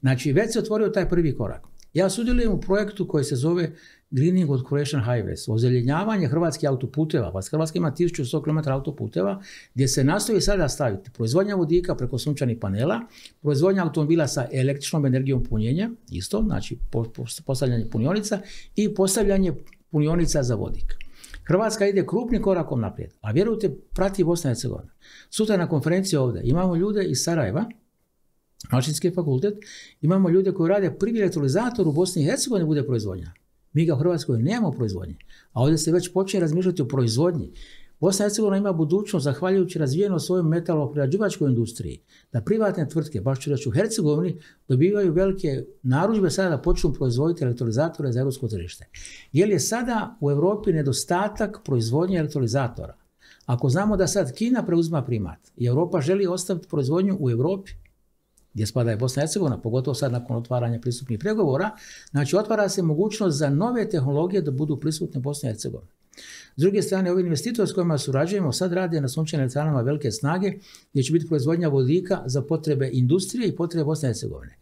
Znači već se otvorio taj prvi korak. Ja sudjelujem u projektu koji se zove Greening of Croatian Highways, ozeljenjavanje hrvatskih autoputeva. Pa Hrvatska ima tisuću sto kilometara autoputeva gdje se nastoji sada staviti proizvodnja vodika preko sunčanih panela, proizvodnja automobila sa električnom energijom punjenja, isto, znači postavljanje punionica i postavljanje punionica za vodik. Hrvatska ide krupnim korakom naprijed, a vjerujte, prati Bosna i Hercegovina. Sutra na konferenciji ovdje imamo ljude iz Sarajeva, Mašinski fakultet, imamo ljude koji rade prvi elektrolizator u Bosni i Hercegovini bude proizvodnja. Mi ga u Hrvatskoj nemamo proizvodnje, a ovdje se već počne razmišljati o proizvodnji. Bosna i Hercegovina ima budućnost zahvaljujući razvijenoj svojoj metaloprerađivačkoj industriji, da privatne tvrtke, baš ću reći u Hercegovini, dobivaju velike narudžbe sada da počnu proizvoditi elektrolizatore za europsko tržište. Jer je sada u Europi nedostatak proizvodnje elektrolizatora. Ako znamo da sad Kina preuzima primat i Europa želi ostaviti proizvodnju u Europi, gdje spada i Bosna i Hercegovina, pogotovo sad nakon otvaranja pristupnih pregovora, znači otvara se mogućnost za nove tehnologije da budu prisutne u Bosni i Hercegovini. S druge strane, ovi investitori s kojima surađujemo sad rade na sunčanim elektranama velike snage gdje će biti proizvodnja vodika za potrebe industrije i potrebe Bosne i Hercegovine.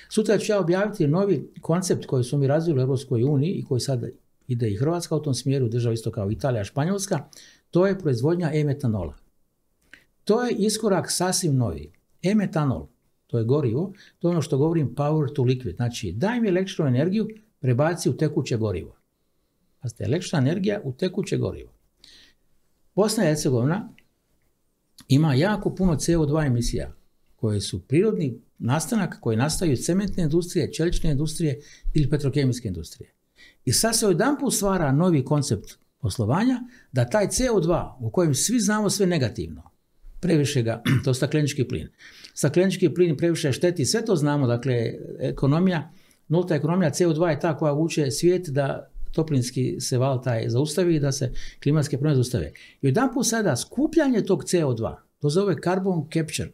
Sutra ću ja objaviti novi koncept koji su mi razvili u Europskoj uniji i koji sad ide i Hrvatska u tom smjeru, država isto kao Italija, Španjolska, to je proizvodnja e-metanola. To je iskorak sasvim novi. E-metanol, to je gorivo, to je ono što govorim power to liquid, znači daj mi električnu energiju, prebaci u tekuće gorivo. Pazite, električna energija u tekuće gorivo. Bosna i Hercegovina ima jako puno C O dva emisija koje su prirodni nastanak koji nastaju iz cementne industrije, čelične industrije ili petrokemijske industrije. I sad se odjedanput stvara novi koncept poslovanja da taj C O dva u kojem svi znamo sve negativno, previše ga, to je staklenički plin. Staklenički plin previše šteti, sve to znamo, dakle ekonomija, nulta ekonomija C O dva je ta koja vuče svijet da toplinski se val taj zaustavi i da se klimatske promjene zaustave. I odjedanput sada skupljanje tog C O dva, to zove carbon capture,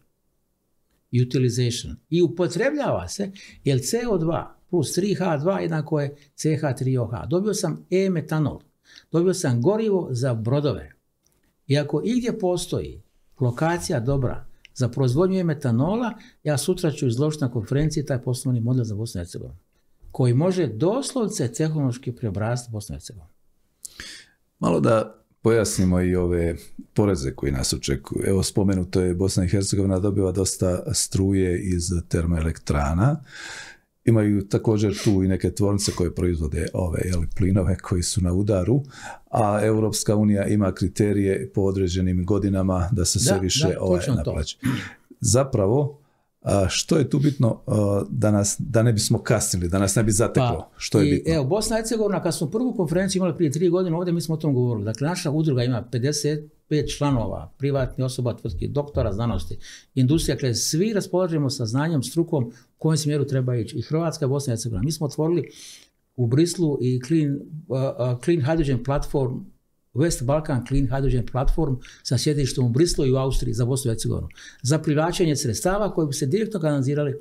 utilization, i upotrebljava se jer C O dva plus tri H dva jednako je C H tri O H. Dobio sam e-metanol, dobio sam gorivo za brodove. I ako igdje postoji lokacija dobra za proizvodnju e-metanola, ja sutra ću izložiti na konferenciji taj poslovni model za Bosnu i Hercegovinu, koji može doslovce tehnološki preobraziti Bosnu i Hercegovinu. Malo da pojasnimo i ove poreze koji nas očekuju. Evo, spomenuto je Bosna i Hercegovina dobiva dosta struje iz termoelektrana. Imaju također tu i neke tvornice koje proizvode ove jeli, plinove koji su na udaru, a Europska unija ima kriterije po određenim godinama da se sve da, više da, ovaj, naplaće. Zapravo, a što je tu bitno da, nas, da ne bismo kasnili, da nas ne bi zateklo? Pa, što je i, bitno? Evo, Bosna i Hercegovina, kad smo prvu konferenciju imali prije tri godine, ovdje mi smo o tom govorili. Dakle, naša udruga ima pedeset pet članova, privatnih osoba, tvrtki, doktora znanosti, industrija, dakle, svi raspolažemo sa znanjem, strukom u kojem smjeru treba ići. I Hrvatska i Bosna i Hercegovina. Mi smo otvorili u Brislu i Clean, uh, uh, Clean Hydrogen Platform, West Balkan Clean Hydrogen Platform sa sjedištem u Brislu i u Austriji za Bosnu i Hercegovinu. Za privlačenje sredstava koji bi se direktno kanalizirali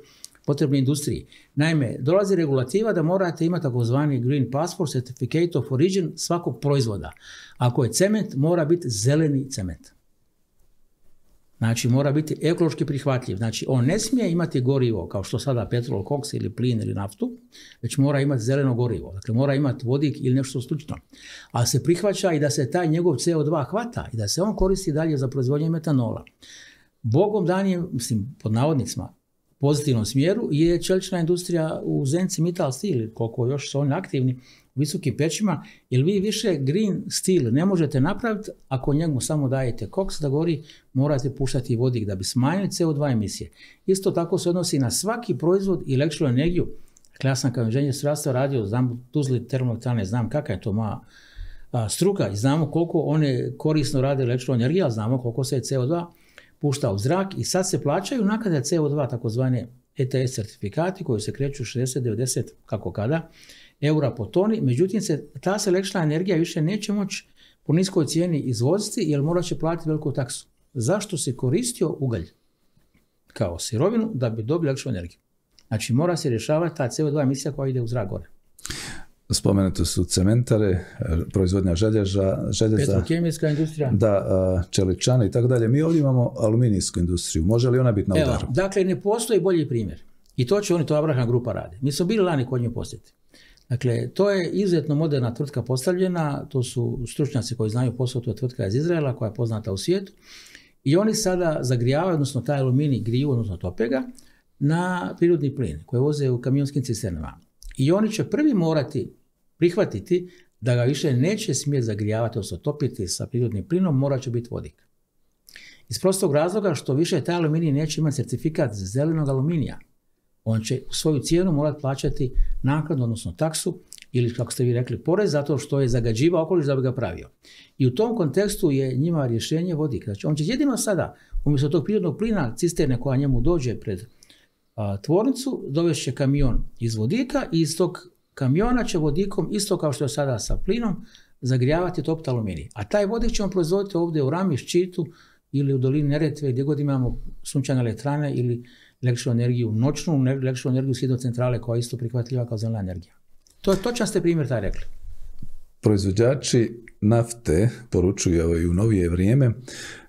potrebne industriji. Naime, dolazi regulativa da morate imati takozvani Green Passport, Certificate of Origin svakog proizvoda. Ako je cement, mora biti zeleni cement. Znači, mora biti ekološki prihvatljiv. Znači, on ne smije imati gorivo, kao što sada petrol, koks ili plin ili naftu, već mora imati zeleno gorivo. Dakle, mora imati vodik ili nešto slično. Ali se prihvaća i da se taj njegov C O dva hvata i da se on koristi dalje za proizvodnju metanola. Bogom danije, mislim, pod navodnicima, pozitivnom smjeru je čelična industrija u Zenci Mittal Steel, koliko još su oni aktivni u visokim pećima, jer vi više green steel ne možete napraviti ako njemu samo dajete koks da gori, morate puštati vodik da bi smanjili C O dva emisije. Isto tako se odnosi na svaki proizvod i električnu energiju. Dakle, ja sam kao inženjer strojarstva radio, znam Tuzli termoelektrane, znam kakva je to moja a, struka i znamo koliko one korisno rade električnu energiju, ali znamo koliko se C O dva pušta u zrak i sad se plaćaju naknade C O dva, takozvane E T S certifikati koji se kreću šezdeset do devedeset kako kada eura po toni, međutim se, ta se električna energija više neće moći po niskoj cijeni izvoziti jer morat će platiti veliku taksu. Zašto se koristio ugalj kao sirovinu da bi dobili električnu energiju? Znači mora se rješavati ta C O dva emisija koja ide u zrak gore. Spomenuto su cementare, proizvodnja želježa, željeza, petrokemijska industrija, da, čeličane i tako dalje. Mi ovdje imamo aluminijsku industriju. Može li ona biti na udaru? Evo, dakle, ne postoji bolji primjer. I to će oni, to Abraham grupa radi. Mi smo bili lani kod nje posjeti. Dakle, to je izuzetno moderna tvrtka postavljena, to su stručnjaci koji znaju posao, to je tvrtka iz Izraela koja je poznata u svijetu. I oni sada zagrijavaju, odnosno taj aluminij griju, odnosno tope ga, na prirodni plin koji voze u kamionskim cisternama. I oni će prvi morati prihvatiti da ga više neće smjeti zagrijavati, odnosno topiti sa prirodnim plinom, mora će biti vodik. Iz prostog razloga što više taj aluminij neće imati certifikat zelenog aluminija. On će svoju cijenu morati plaćati naknadu, odnosno taksu, ili kako ste vi rekli, porez, zato što je zagađivao okoliš da bi ga pravio. I u tom kontekstu je njima rješenje vodik. Znači, on će jedino sada, umjesto tog prirodnog plina, cisterne koja njemu dođe pred a, tvornicu, dovešće kamion iz vodika i iz tog kamiona će vodikom, isto kao što je sada sa plinom, zagrijavati topiti aluminij. A taj vodik ćemo proizvoditi ovdje u Rami, Ščitu ili u dolini Neretve, gdje god imamo sunčane elektrane ili električnu energiju, noćnu električnu energiju s hidrocentrale koja je isto prihvatljiva kao zelena energija. To je točan ste primjer taj rekli. proizvođači nafte poručuju i u novije vrijeme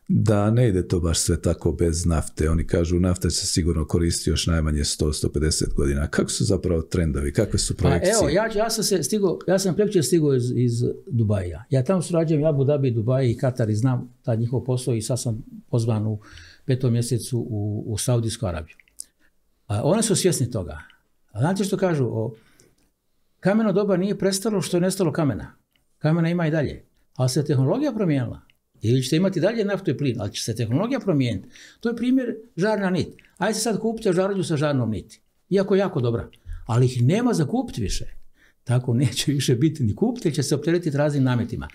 da ne ide to baš sve tako bez nafte. Oni kažu nafta se sigurno koristi još najmanje sto do sto pedeset godina. Kako su zapravo trendovi? Kakve su projekcije? Pa evo, ja, ja sam se stigo, ja sam prekjučer stigao iz, iz Dubaija. Ja tamo surađujem Abu Dhabi, Dubai i Katar i znam taj njihov posao i sad sam pozvan u petom mjesecu u, u Saudijsku Arabiju. A oni su svjesni toga. A znate što kažu? O, kameno doba nije prestalo što je nestalo kamena. Kamena ima i dalje. Ali se tehnologija promijenila. Ili ćete imati dalje naftu i plin, ali će se tehnologija promijeniti. To je primjer žarna nit. Ajde sad kupite žarulju sa žarnom niti. Iako je jako dobra. Ali ih nema za kupiti više. Tako neće više biti ni kupiti, jer će se opteretiti raznim nametima.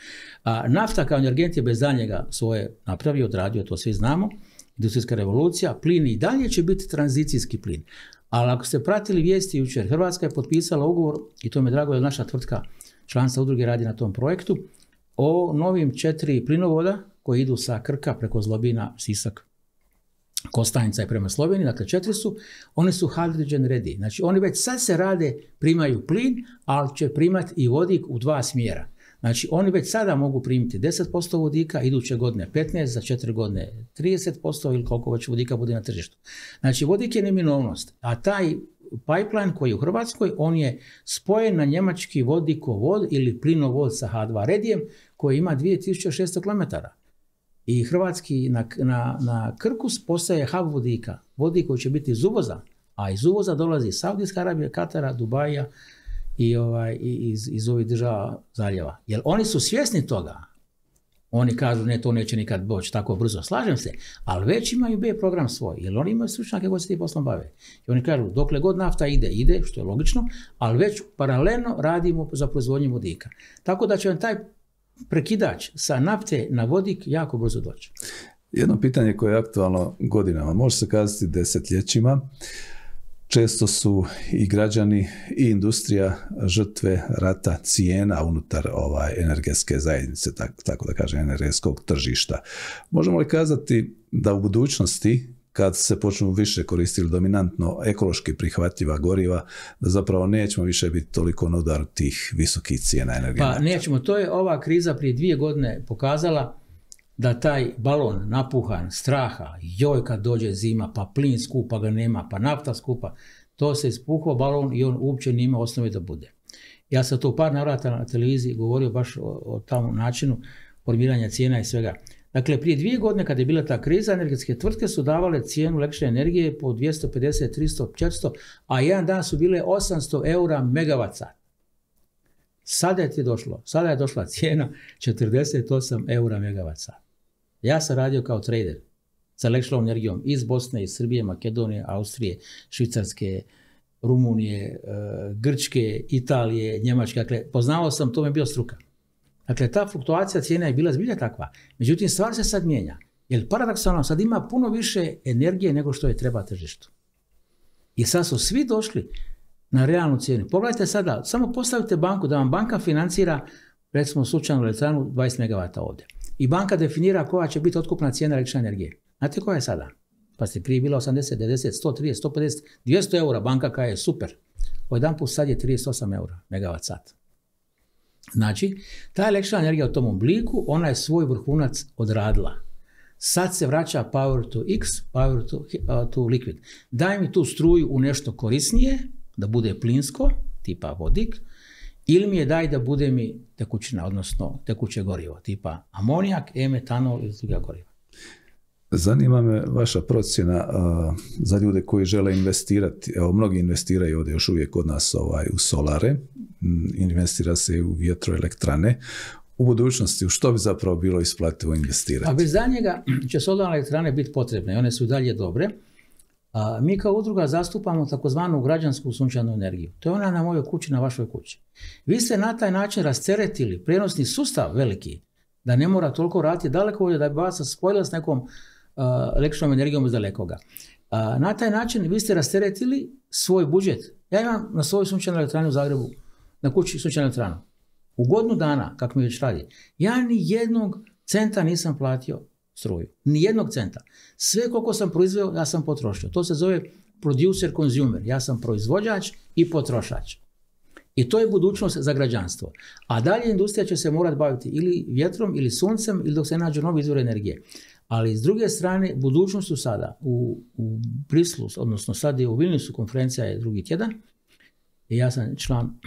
A nafta kao energent je bez daljnjega svoje napravio, odradio, to svi znamo. Industrijska revolucija, plin i dalje će biti tranzicijski plin. Ali ako ste pratili vijesti jučer, Hrvatska je potpisala ugovor, i to mi je drago jer naša tvrtka članstva udruge radi na tom projektu, o novim četiri plinovoda koji idu sa Krka preko Zlobina, Sisak, Kostajnica i prema Sloveniji, dakle četiri su, oni su hydrogen ready. Znači oni već sad se rade, primaju plin, ali će primati i vodik u dva smjera. Znači oni već sada mogu primiti deset posto vodika, iduće godine petnaest, za četiri godine trideset posto ili koliko već vodika bude na tržištu. Znači vodik je neminovnost, a taj pipeline koji je u Hrvatskoj, on je spojen na njemački vodikovod ili plinovod sa ha dva redijem koji ima dvije tisuće šesto kilometara. I hrvatski na, na, na Krku postaje hub vodika, vodik koji će biti iz uvoza, a iz uvoza dolazi iz Saudijske Arabije, Katara, Dubaija i, ovaj, i iz, iz ovih država zaljeva. Jer oni su svjesni toga. Oni kažu ne, to neće nikad doći tako brzo, slažem se, ali već imaju B program svoj, jer oni imaju stručnjake koji se tim poslom bave. I oni kažu dokle god nafta ide, ide, što je logično, ali već paralelno radimo za proizvodnju vodika. Tako da će vam taj prekidač sa nafte na vodik jako brzo doći. Jedno pitanje koje je aktualno godinama, može se kazati desetljećima, često su i građani i industrija žrtve rata cijena unutar ovaj energetske zajednice, tako, tako da kažem, energetskog tržišta. Možemo li kazati da u budućnosti, kad se počnu više koristiti dominantno ekološki prihvatljiva goriva, da zapravo nećemo više biti toliko na udaru tih visokih cijena energenata? Pa nećemo, to je ova kriza prije dvije godine pokazala da taj balon napuhan straha, joj kad dođe zima, pa plin skup, pa ga nema, pa nafta skupa, to se ispuhao balon i on uopće nima osnovi da bude. Ja sam to u par navrata na televiziji govorio baš o, o tom načinu formiranja cijena i svega. Dakle, prije dvije godine kada je bila ta kriza, energetske tvrtke su davale cijenu električne energije po dvjesto pedeset, tristo, četiristo, a jedan dan su bile osamsto eura megavat sat. Sada je ti došlo, sada je došla cijena četrdeset osam eura megavat sat. Ja sam radio kao trader sa električnom energijom iz Bosne, iz Srbije, Makedonije, Austrije, Švicarske, Rumunije, Grčke, Italije, Njemačke. Dakle, poznavao sam, to mi je bio struka. Dakle, ta fluktuacija cijena je bila zbilja takva. Međutim, stvar se sad mijenja. Jer paradoksalno sad ima puno više energije nego što je treba tržištu. I sad su svi došli na realnu cijenu. Pogledajte sada, samo postavite banku da vam banka financira, recimo slučajnu elektranu dvadeset megavata ovdje. I banka definira koja će biti otkupna cijena električne energije. Znate koja je sada? Pa ste prije bila osamdeset, devedeset, sto trideset, sto pedeset, dvjesto eura, banka koja je super. Jedan put sad je trideset osam eura megavat sat. Znači, ta električna energija u tom obliku, ona je svoj vrhunac odradila. Sad se vraća power to x, power to, uh, to liquid. Daj mi tu struju u nešto korisnije, da bude plinsko, tipa vodik, ili mi je daj da bude mi tekućina, odnosno tekuće gorivo, tipa amonijak, e-metanol ili druga goriva. Zanima me vaša procjena uh, za ljude koji žele investirati. Evo, mnogi investiraju ovdje još uvijek kod nas ovaj, u solare, investira se u vjetroelektrane. U budućnosti, u što bi zapravo bilo isplativo investirati? A bez njega će solarne elektrane biti potrebne i one su dalje dobre. A mi kao udruga zastupamo takozvanu građansku sunčanu energiju. To je ona na mojoj kući, na vašoj kući. Vi ste na taj način rasteretili prijenosni sustav veliki, da ne mora toliko raditi daleko, da bi vas spojila s nekom uh, električnom energijom iz dalekoga. Uh, na taj način vi ste rasteretili svoj budžet. Ja imam na svojoj sunčanoj elektrani u Zagrebu, na kući sunčanu elektranu. U godinu dana, kako mi već radi, ja ni jednog centa nisam platio struju. Ni jednog centa. Sve koliko sam proizveo, ja sam potrošio. To se zove producer consumer. Ja sam proizvođač i potrošač. I to je budućnost za građanstvo. A dalje industrija će se morati baviti ili vjetrom ili suncem ili dok se nađu novi izvor energije. Ali s druge strane, budućnost su sada u, u Brislu, odnosno sad je u Vilniusu, konferencija je drugi tjedan, i ja sam član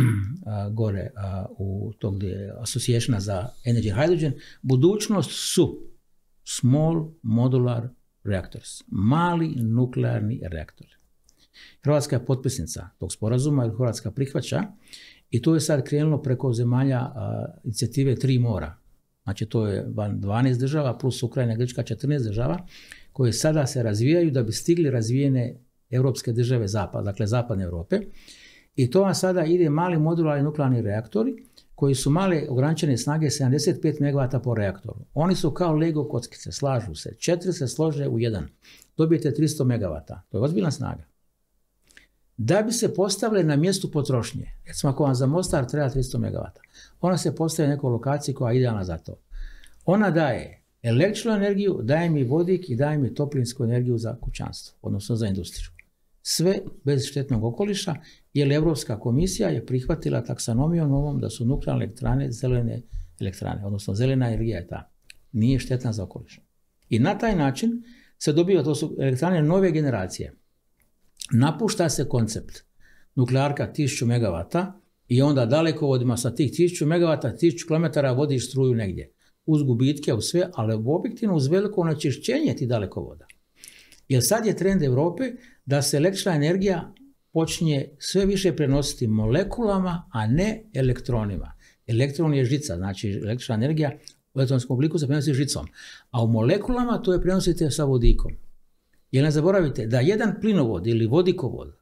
a, gore a, u tog Associationa za Energy Hydrogen. Budućnost su small modular reactors, mali nuklearni reaktori. Hrvatska je potpisnica tog sporazuma jer Hrvatska prihvaća i to je sad krenulo preko zemalja a, inicijative Tri mora. Znači to je dvanaest država plus Ukrajina, Grčka, četrnaest država koje sada se razvijaju da bi stigli razvijene europske države zapad, dakle zapadne Europe. I to vam sada ide mali modularni nuklearni reaktori koji su male ograničene snage sedamdeset pet megavata po reaktoru. Oni su kao Lego kockice, slažu se. Četiri se slože u jedan. Dobijete tristo megavata. To je ozbiljna snaga. Da bi se postavile na mjestu potrošnje, recimo ako vam za Mostar treba tristo megavata, ona se postavi na nekoj lokaciji koja je idealna za to. Ona daje električnu energiju, daje mi vodik i daje mi toplinsku energiju za kućanstvo, odnosno za industriju. Sve bez štetnog okoliša, jer Europska komisija je prihvatila taksonomijom ovom da su nuklearne elektrane zelene elektrane, odnosno zelena energija je ta. Nije štetna za okoliš. I na taj način se dobiva, to su elektrane nove generacije. Napušta se koncept nuklearka tisuću megavata i onda dalekovodima sa tih tisuću megavata, tisuću kilometara vodiš struju negdje. Uz gubitke, uz sve, ali objektivno uz veliko onečišćenje tih dalekovoda. Jer sad je trend Europe da se električna energija počinje sve više prenositi molekulama, a ne elektronima. Elektron je žica, znači električna energija u elektronskom obliku se prenosi žicom. A u molekulama to je prenosite sa vodikom. Jer ne zaboravite da jedan plinovod ili vodikovod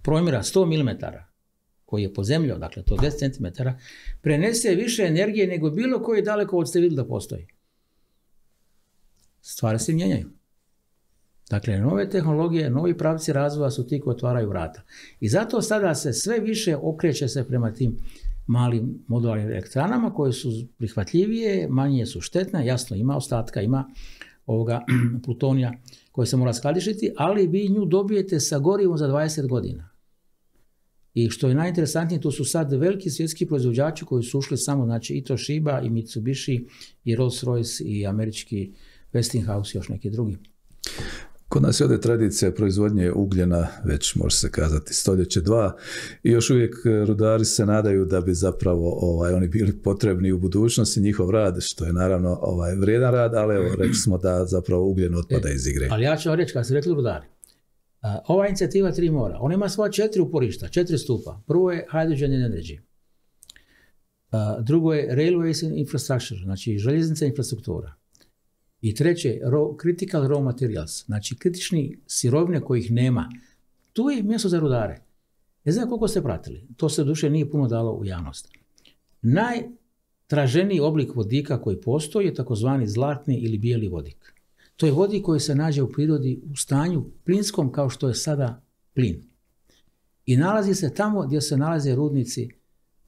promjera sto milimetara, koji je pod zemljom, dakle to deset centimetara, prenese više energije nego bilo koji dalekovod ste vidjeli da postoji. Stvari se mijenjaju. Dakle, nove tehnologije, novi pravci razvoja su ti koji otvaraju vrata. I zato sada se sve više okreće se prema tim malim modularnim elektranama koje su prihvatljivije, manje su štetne, jasno ima ostatka, ima ovoga plutonija koje se mora skladištiti, ali vi nju dobijete sa gorivom za dvadeset godina. I što je najinteresantnije, to su sad veliki svjetski proizvođači koji su ušli samo, znači i Toshiba, i Mitsubishi, i Rolls-Royce, i američki Westinghouse i još neki drugi. Kod nas je ovdje tradicija proizvodnje ugljena, već može se kazati stoljeće dva, i još uvijek rudari se nadaju da bi zapravo ovaj, oni bili potrebni u budućnosti, njihov rad, što je naravno ovaj, vrijedan rad, ali evo, rekli smo da zapravo ugljen otpada iz igre. Ali ja ću vam reći, kad ste rekli rudari, uh, ova inicijativa Tri mora, ona ima svoja četiri uporišta, četiri stupa. Prvo je hydrogen and energy. Uh, drugo je railways infrastructure, znači željeznica infrastruktura. I treće, raw, critical raw materials, znači kritični sirovine kojih nema. Tu je mjesto za rudare. Ne znam koliko ste pratili, to se duše nije puno dalo u javnost. Najtraženiji oblik vodika koji postoji je takozvani zlatni ili bijeli vodik. To je vodik koji se nađe u prirodi u stanju plinskom kao što je sada plin. I nalazi se tamo gdje se nalaze rudnici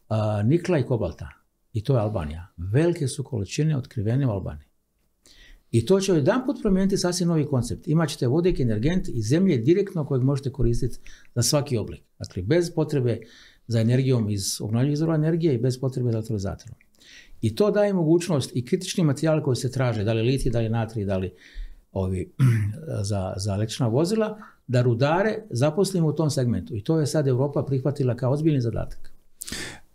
a, nikla i kobalta. I to je Albanija. Velike su količine otkrivene u Albaniji. I to će jedanput promijeniti sasvim novi koncept. Imaćete vodik, energent iz zemlje direktno kojeg možete koristiti za svaki oblik. Dakle, bez potrebe za energijom iz obnovljivih izvora energije i bez potrebe za elektrolizatorom. I to daje mogućnost i kritični materijal koji se traže, da li litij, da li natrij, da li ovi, za, za električna vozila, da rudare zaposlimo u tom segmentu. I to je sad Europa prihvatila kao ozbiljni zadatak.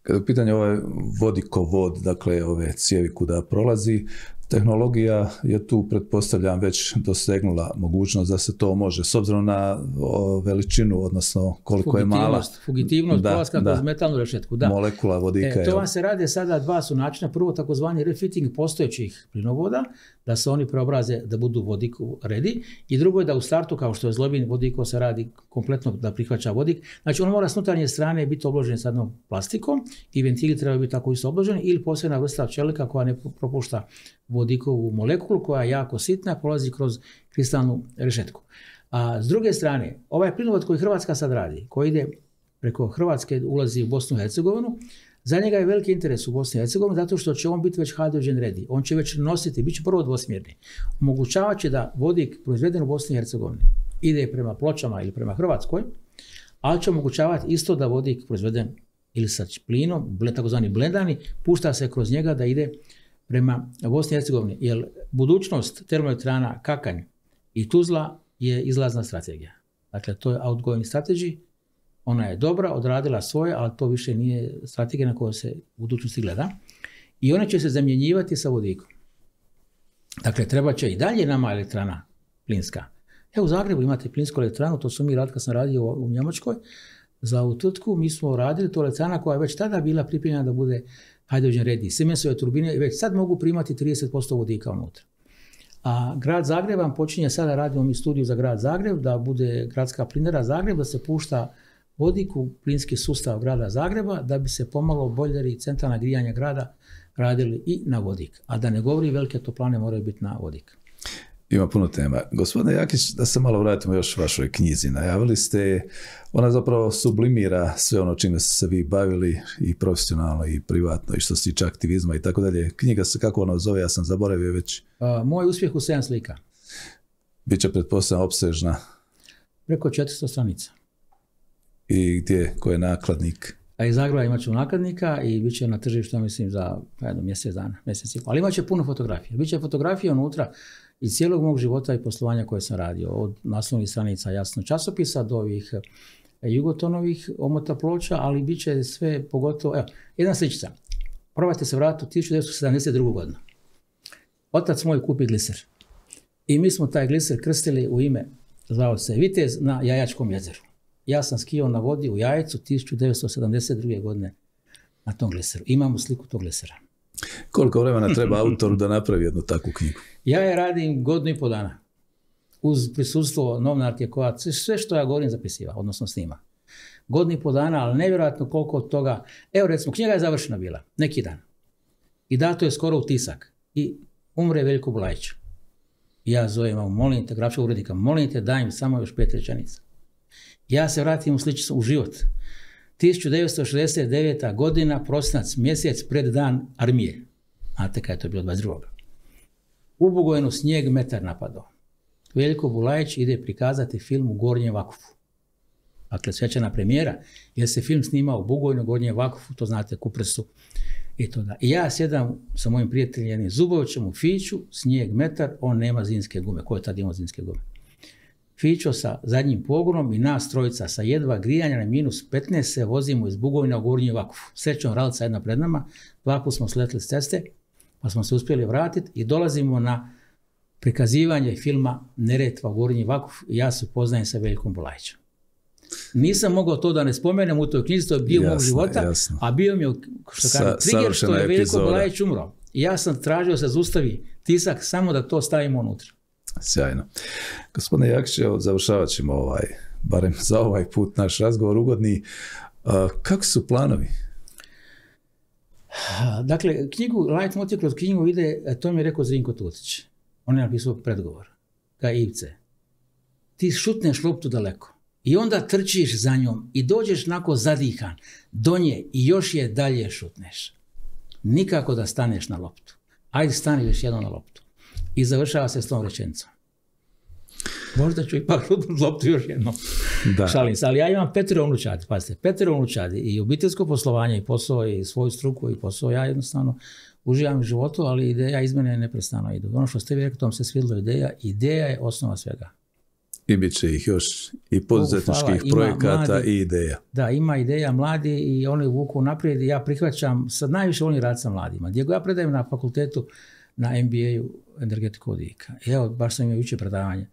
Kada je u pitanju ovaj vodikovod, dakle ove cijevi kuda prolazi, tehnologija je tu, pretpostavljam, već dosegnula mogućnost da se to može, s obzirom na o, veličinu, odnosno koliko je mala. Fugitivnost, prolaska kroz metalnu rešetku. Da. Molekula vodika. E, to vam se rade sada dva su načina. Prvo, takozvani refitting postojećih plinovoda, da se oni preobraze da budu vodiku ready. I drugo je da u startu, kao što je Zlobin vodiko, se radi kompletno da prihvaća vodik. Znači, on mora s unutarnje strane biti obložen s jednom plastikom i ventili trebaju biti tako isto obloženi ili posebna vrsta čelika koja ne propušta vodikovu molekulu koja je jako sitna, prolazi kroz kristalnu rešetku. A s druge strane, ovaj plinovod koji Hrvatska sad radi, koji ide preko Hrvatske, ulazi u Bosnu i Hercegovinu, za njega je veliki interes u Bosni i Hercegovini zato što će on biti već hydrogen ready. On će već nositi, bit će prvo dvosmjerni. Omogućavat će da vodik proizveden u Bosni i Hercegovini ide prema Pločama ili prema Hrvatskoj, ali će omogućavati isto da vodik proizveden ili sa plinom, takozvani blendani, pušta se kroz njega da ide prema Bosni i Hercegovini. Jer budućnost termoelektrana Kakanj i Tuzla je izlazna strategija. Dakle, to je outgoing strategy. Ona je dobra, odradila svoje, ali to više nije strategija na kojoj se u budućnosti gleda. I ona će se zamjenjivati sa vodikom. Dakle, treba će i dalje nama elektrana plinska. Evo u Zagrebu imate plinsku elektranu, to su mi rad kad sam radio u Njemačkoj. Za ovu tvrtku mi smo radili tu elektrana koja je već tada bila pripremljena da bude hydrogen ready. Siemensove turbine već sad mogu primati trideset posto vodika unutra. A grad Zagreb vam počinje sada, radimo mi studiju za grad Zagreb, da bude gradska plinara Zagreb, da se pušta vodik u plinski sustav grada Zagreba, da bi se pomalo bojleri i centralna grijanja grada radili i na vodik. A da ne govori, velike toplane moraju biti na vodik. Ima puno tema. Gospodine Jakić, da se malo vratimo još vašoj knjizi. Najavili ste, ona zapravo sublimira sve ono čime ste se vi bavili i profesionalno i privatno i što se tiče aktivizma i tako dalje. Knjiga se, kako ona zove, ja sam zaboravio već. A, moj uspjeh u sedam slika. Biće pretpostavljeno opsežna. Preko četiristo stranica. I gdje, ko je nakladnik? A iz Zagreba imat ću nakladnika i bit će na tržištu, mislim, za jedno mjesec dana, mjesec i pol. Ali imat će puno fotografija. Biće fotografije unutra iz cijelog mog života i poslovanja koje sam radio. Od naslovnih stranica jasno časopisa do ovih jugotonovih omota ploča, ali bit će sve pogotovo... Evo, jedna sličica. Probajte se vratiti u tisuću devetsto sedamdeset drugu godinu. Otac moj kupi gliser. I mi smo taj gliser krstili u ime, zvao se Vitez, na Jajačkom jezeru. Ja sam skijao na vodi u Jajcu tisuću devetsto sedamdeset druge godine na tom gliseru. Imamo sliku tog glisera. Koliko vremena treba autoru da napravi jednu takvu knjigu? Ja je radim godinu i pol dana. Uz prisustvo novinarke koja sve što ja govorim zapisiva, odnosno snima. Godinu i pol dana, ali nevjerojatno koliko od toga... Evo recimo, knjiga je završena bila, neki dan. I dato je skoro u tisak. I umre Veljko Bulajić. I ja zovem, molim te, grafičkog urednika, molim te, daj mi samo još pet rečenica. Ja se vratim u sličicu u život. tisuću devetsto šezdeset deveta godina, prosinac, mjesec pred dan armije. Znate kada je to bilo dvadeset drugog U Bugojnu snijeg metar napadao. Veljko Bulajić ide prikazati film u Gornjem Vakufu. Dakle, svečana premijera, jer se film snimao u Bugojnu, Gornjem Vakufu, to znate, Kupresu i to da. I ja sjedam sa mojim prijateljem Zubovićem u Fiću, snijeg metar, on nema zimske gume. Ko je tad imao zimske gume? Fićo sa zadnjim pogonom i nas trojica sa jedva grijanja na minus petnaest se vozimo iz Bugojna u Gornji Vakufu. Srećom ralica jedna pred nama, dva put smo sletili s ceste, pa smo se uspjeli vratiti i dolazimo na prikazivanje filma Neretva u Gornji Vakuf i ja se upoznajem sa Veljkom Bulajićem. Nisam mogao to da ne spomenem u toj knjizi, to je bio jasno, mog života, jasno. A bio mi je što kažem, trigger što je Veljko Bulajić umro. I ja sam tražio se zaustavi tisak samo da to stavimo unutra. Sjajno. Gospodine Jakić, završavat ćemo ovaj, barem za ovaj put naš razgovor ugodni. A, kako su planovi? Dakle, knjigu, Light Motiv kroz knjigu ide, to mi je rekao Zrinko Tutić. On je napisao predgovor. Ka Ivce. Ti šutneš loptu daleko. I onda trčiš za njom i dođeš nako zadihan do nje i još je dalje šutneš. Nikako da staneš na loptu. Ajde stani još jedno na loptu. I završava se s tom rečenicom. Možda ću ipak šutnuti loptu još jednom. Da. Šalim se, ali ja imam petero unučadi. Pazite, petero unučadi i obiteljsko poslovanje i posao i svoju struku i posao. Ja jednostavno uživam u životu, ali ideja iz mene neprestano idu. Ono što ste vi rekli, tom se svidjela ideja. Ideja je osnova svega. I bit će ih još i poduzetničkih uh, projekata mladi, i ideja. Da, ima ideja mladi i oni vuku naprijed i ja prihvaćam, sad najviše volim raditi sa mladima. Gdje ja predajem na fakultetu na M B A-u energetiku vodika. Evo, baš sam imao jučer predavanje.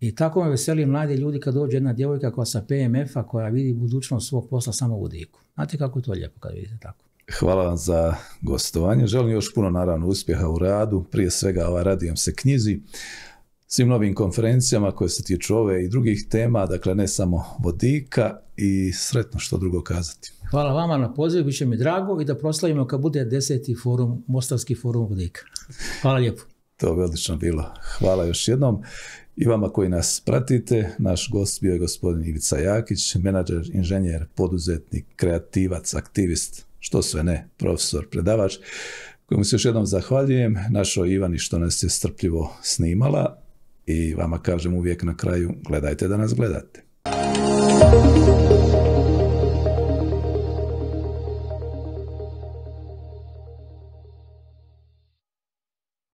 I tako me veseli mladi ljudi kad dođe jedna djevojka koja sa P M F-a koja vidi budućnost svog posla samo u vodiku. Znate kako je to lijepo kad vidite tako. Hvala vam za gostovanje. Želim još puno naravno uspjeha u radu. Prije svega ovaj, radujem se knjizi, svim novim konferencijama koje se tiču ove i drugih tema, dakle ne samo vodika i sretno što drugo kazati. Hvala vama na pozivu, bit će mi drago i da proslavimo kad bude deseti forum, Mostarski forum vodika. Hvala lijepo. To bi odlično bilo. Hvala još jednom. I vama koji nas pratite, naš gost bio je gospodin Ivica Jakić, menadžer, inženjer, poduzetnik, kreativac, aktivist, što sve ne, profesor, predavač, kojemu se još jednom zahvaljujem, našoj Ivani što nas je strpljivo snimala i vama kažem uvijek na kraju, gledajte da nas gledate.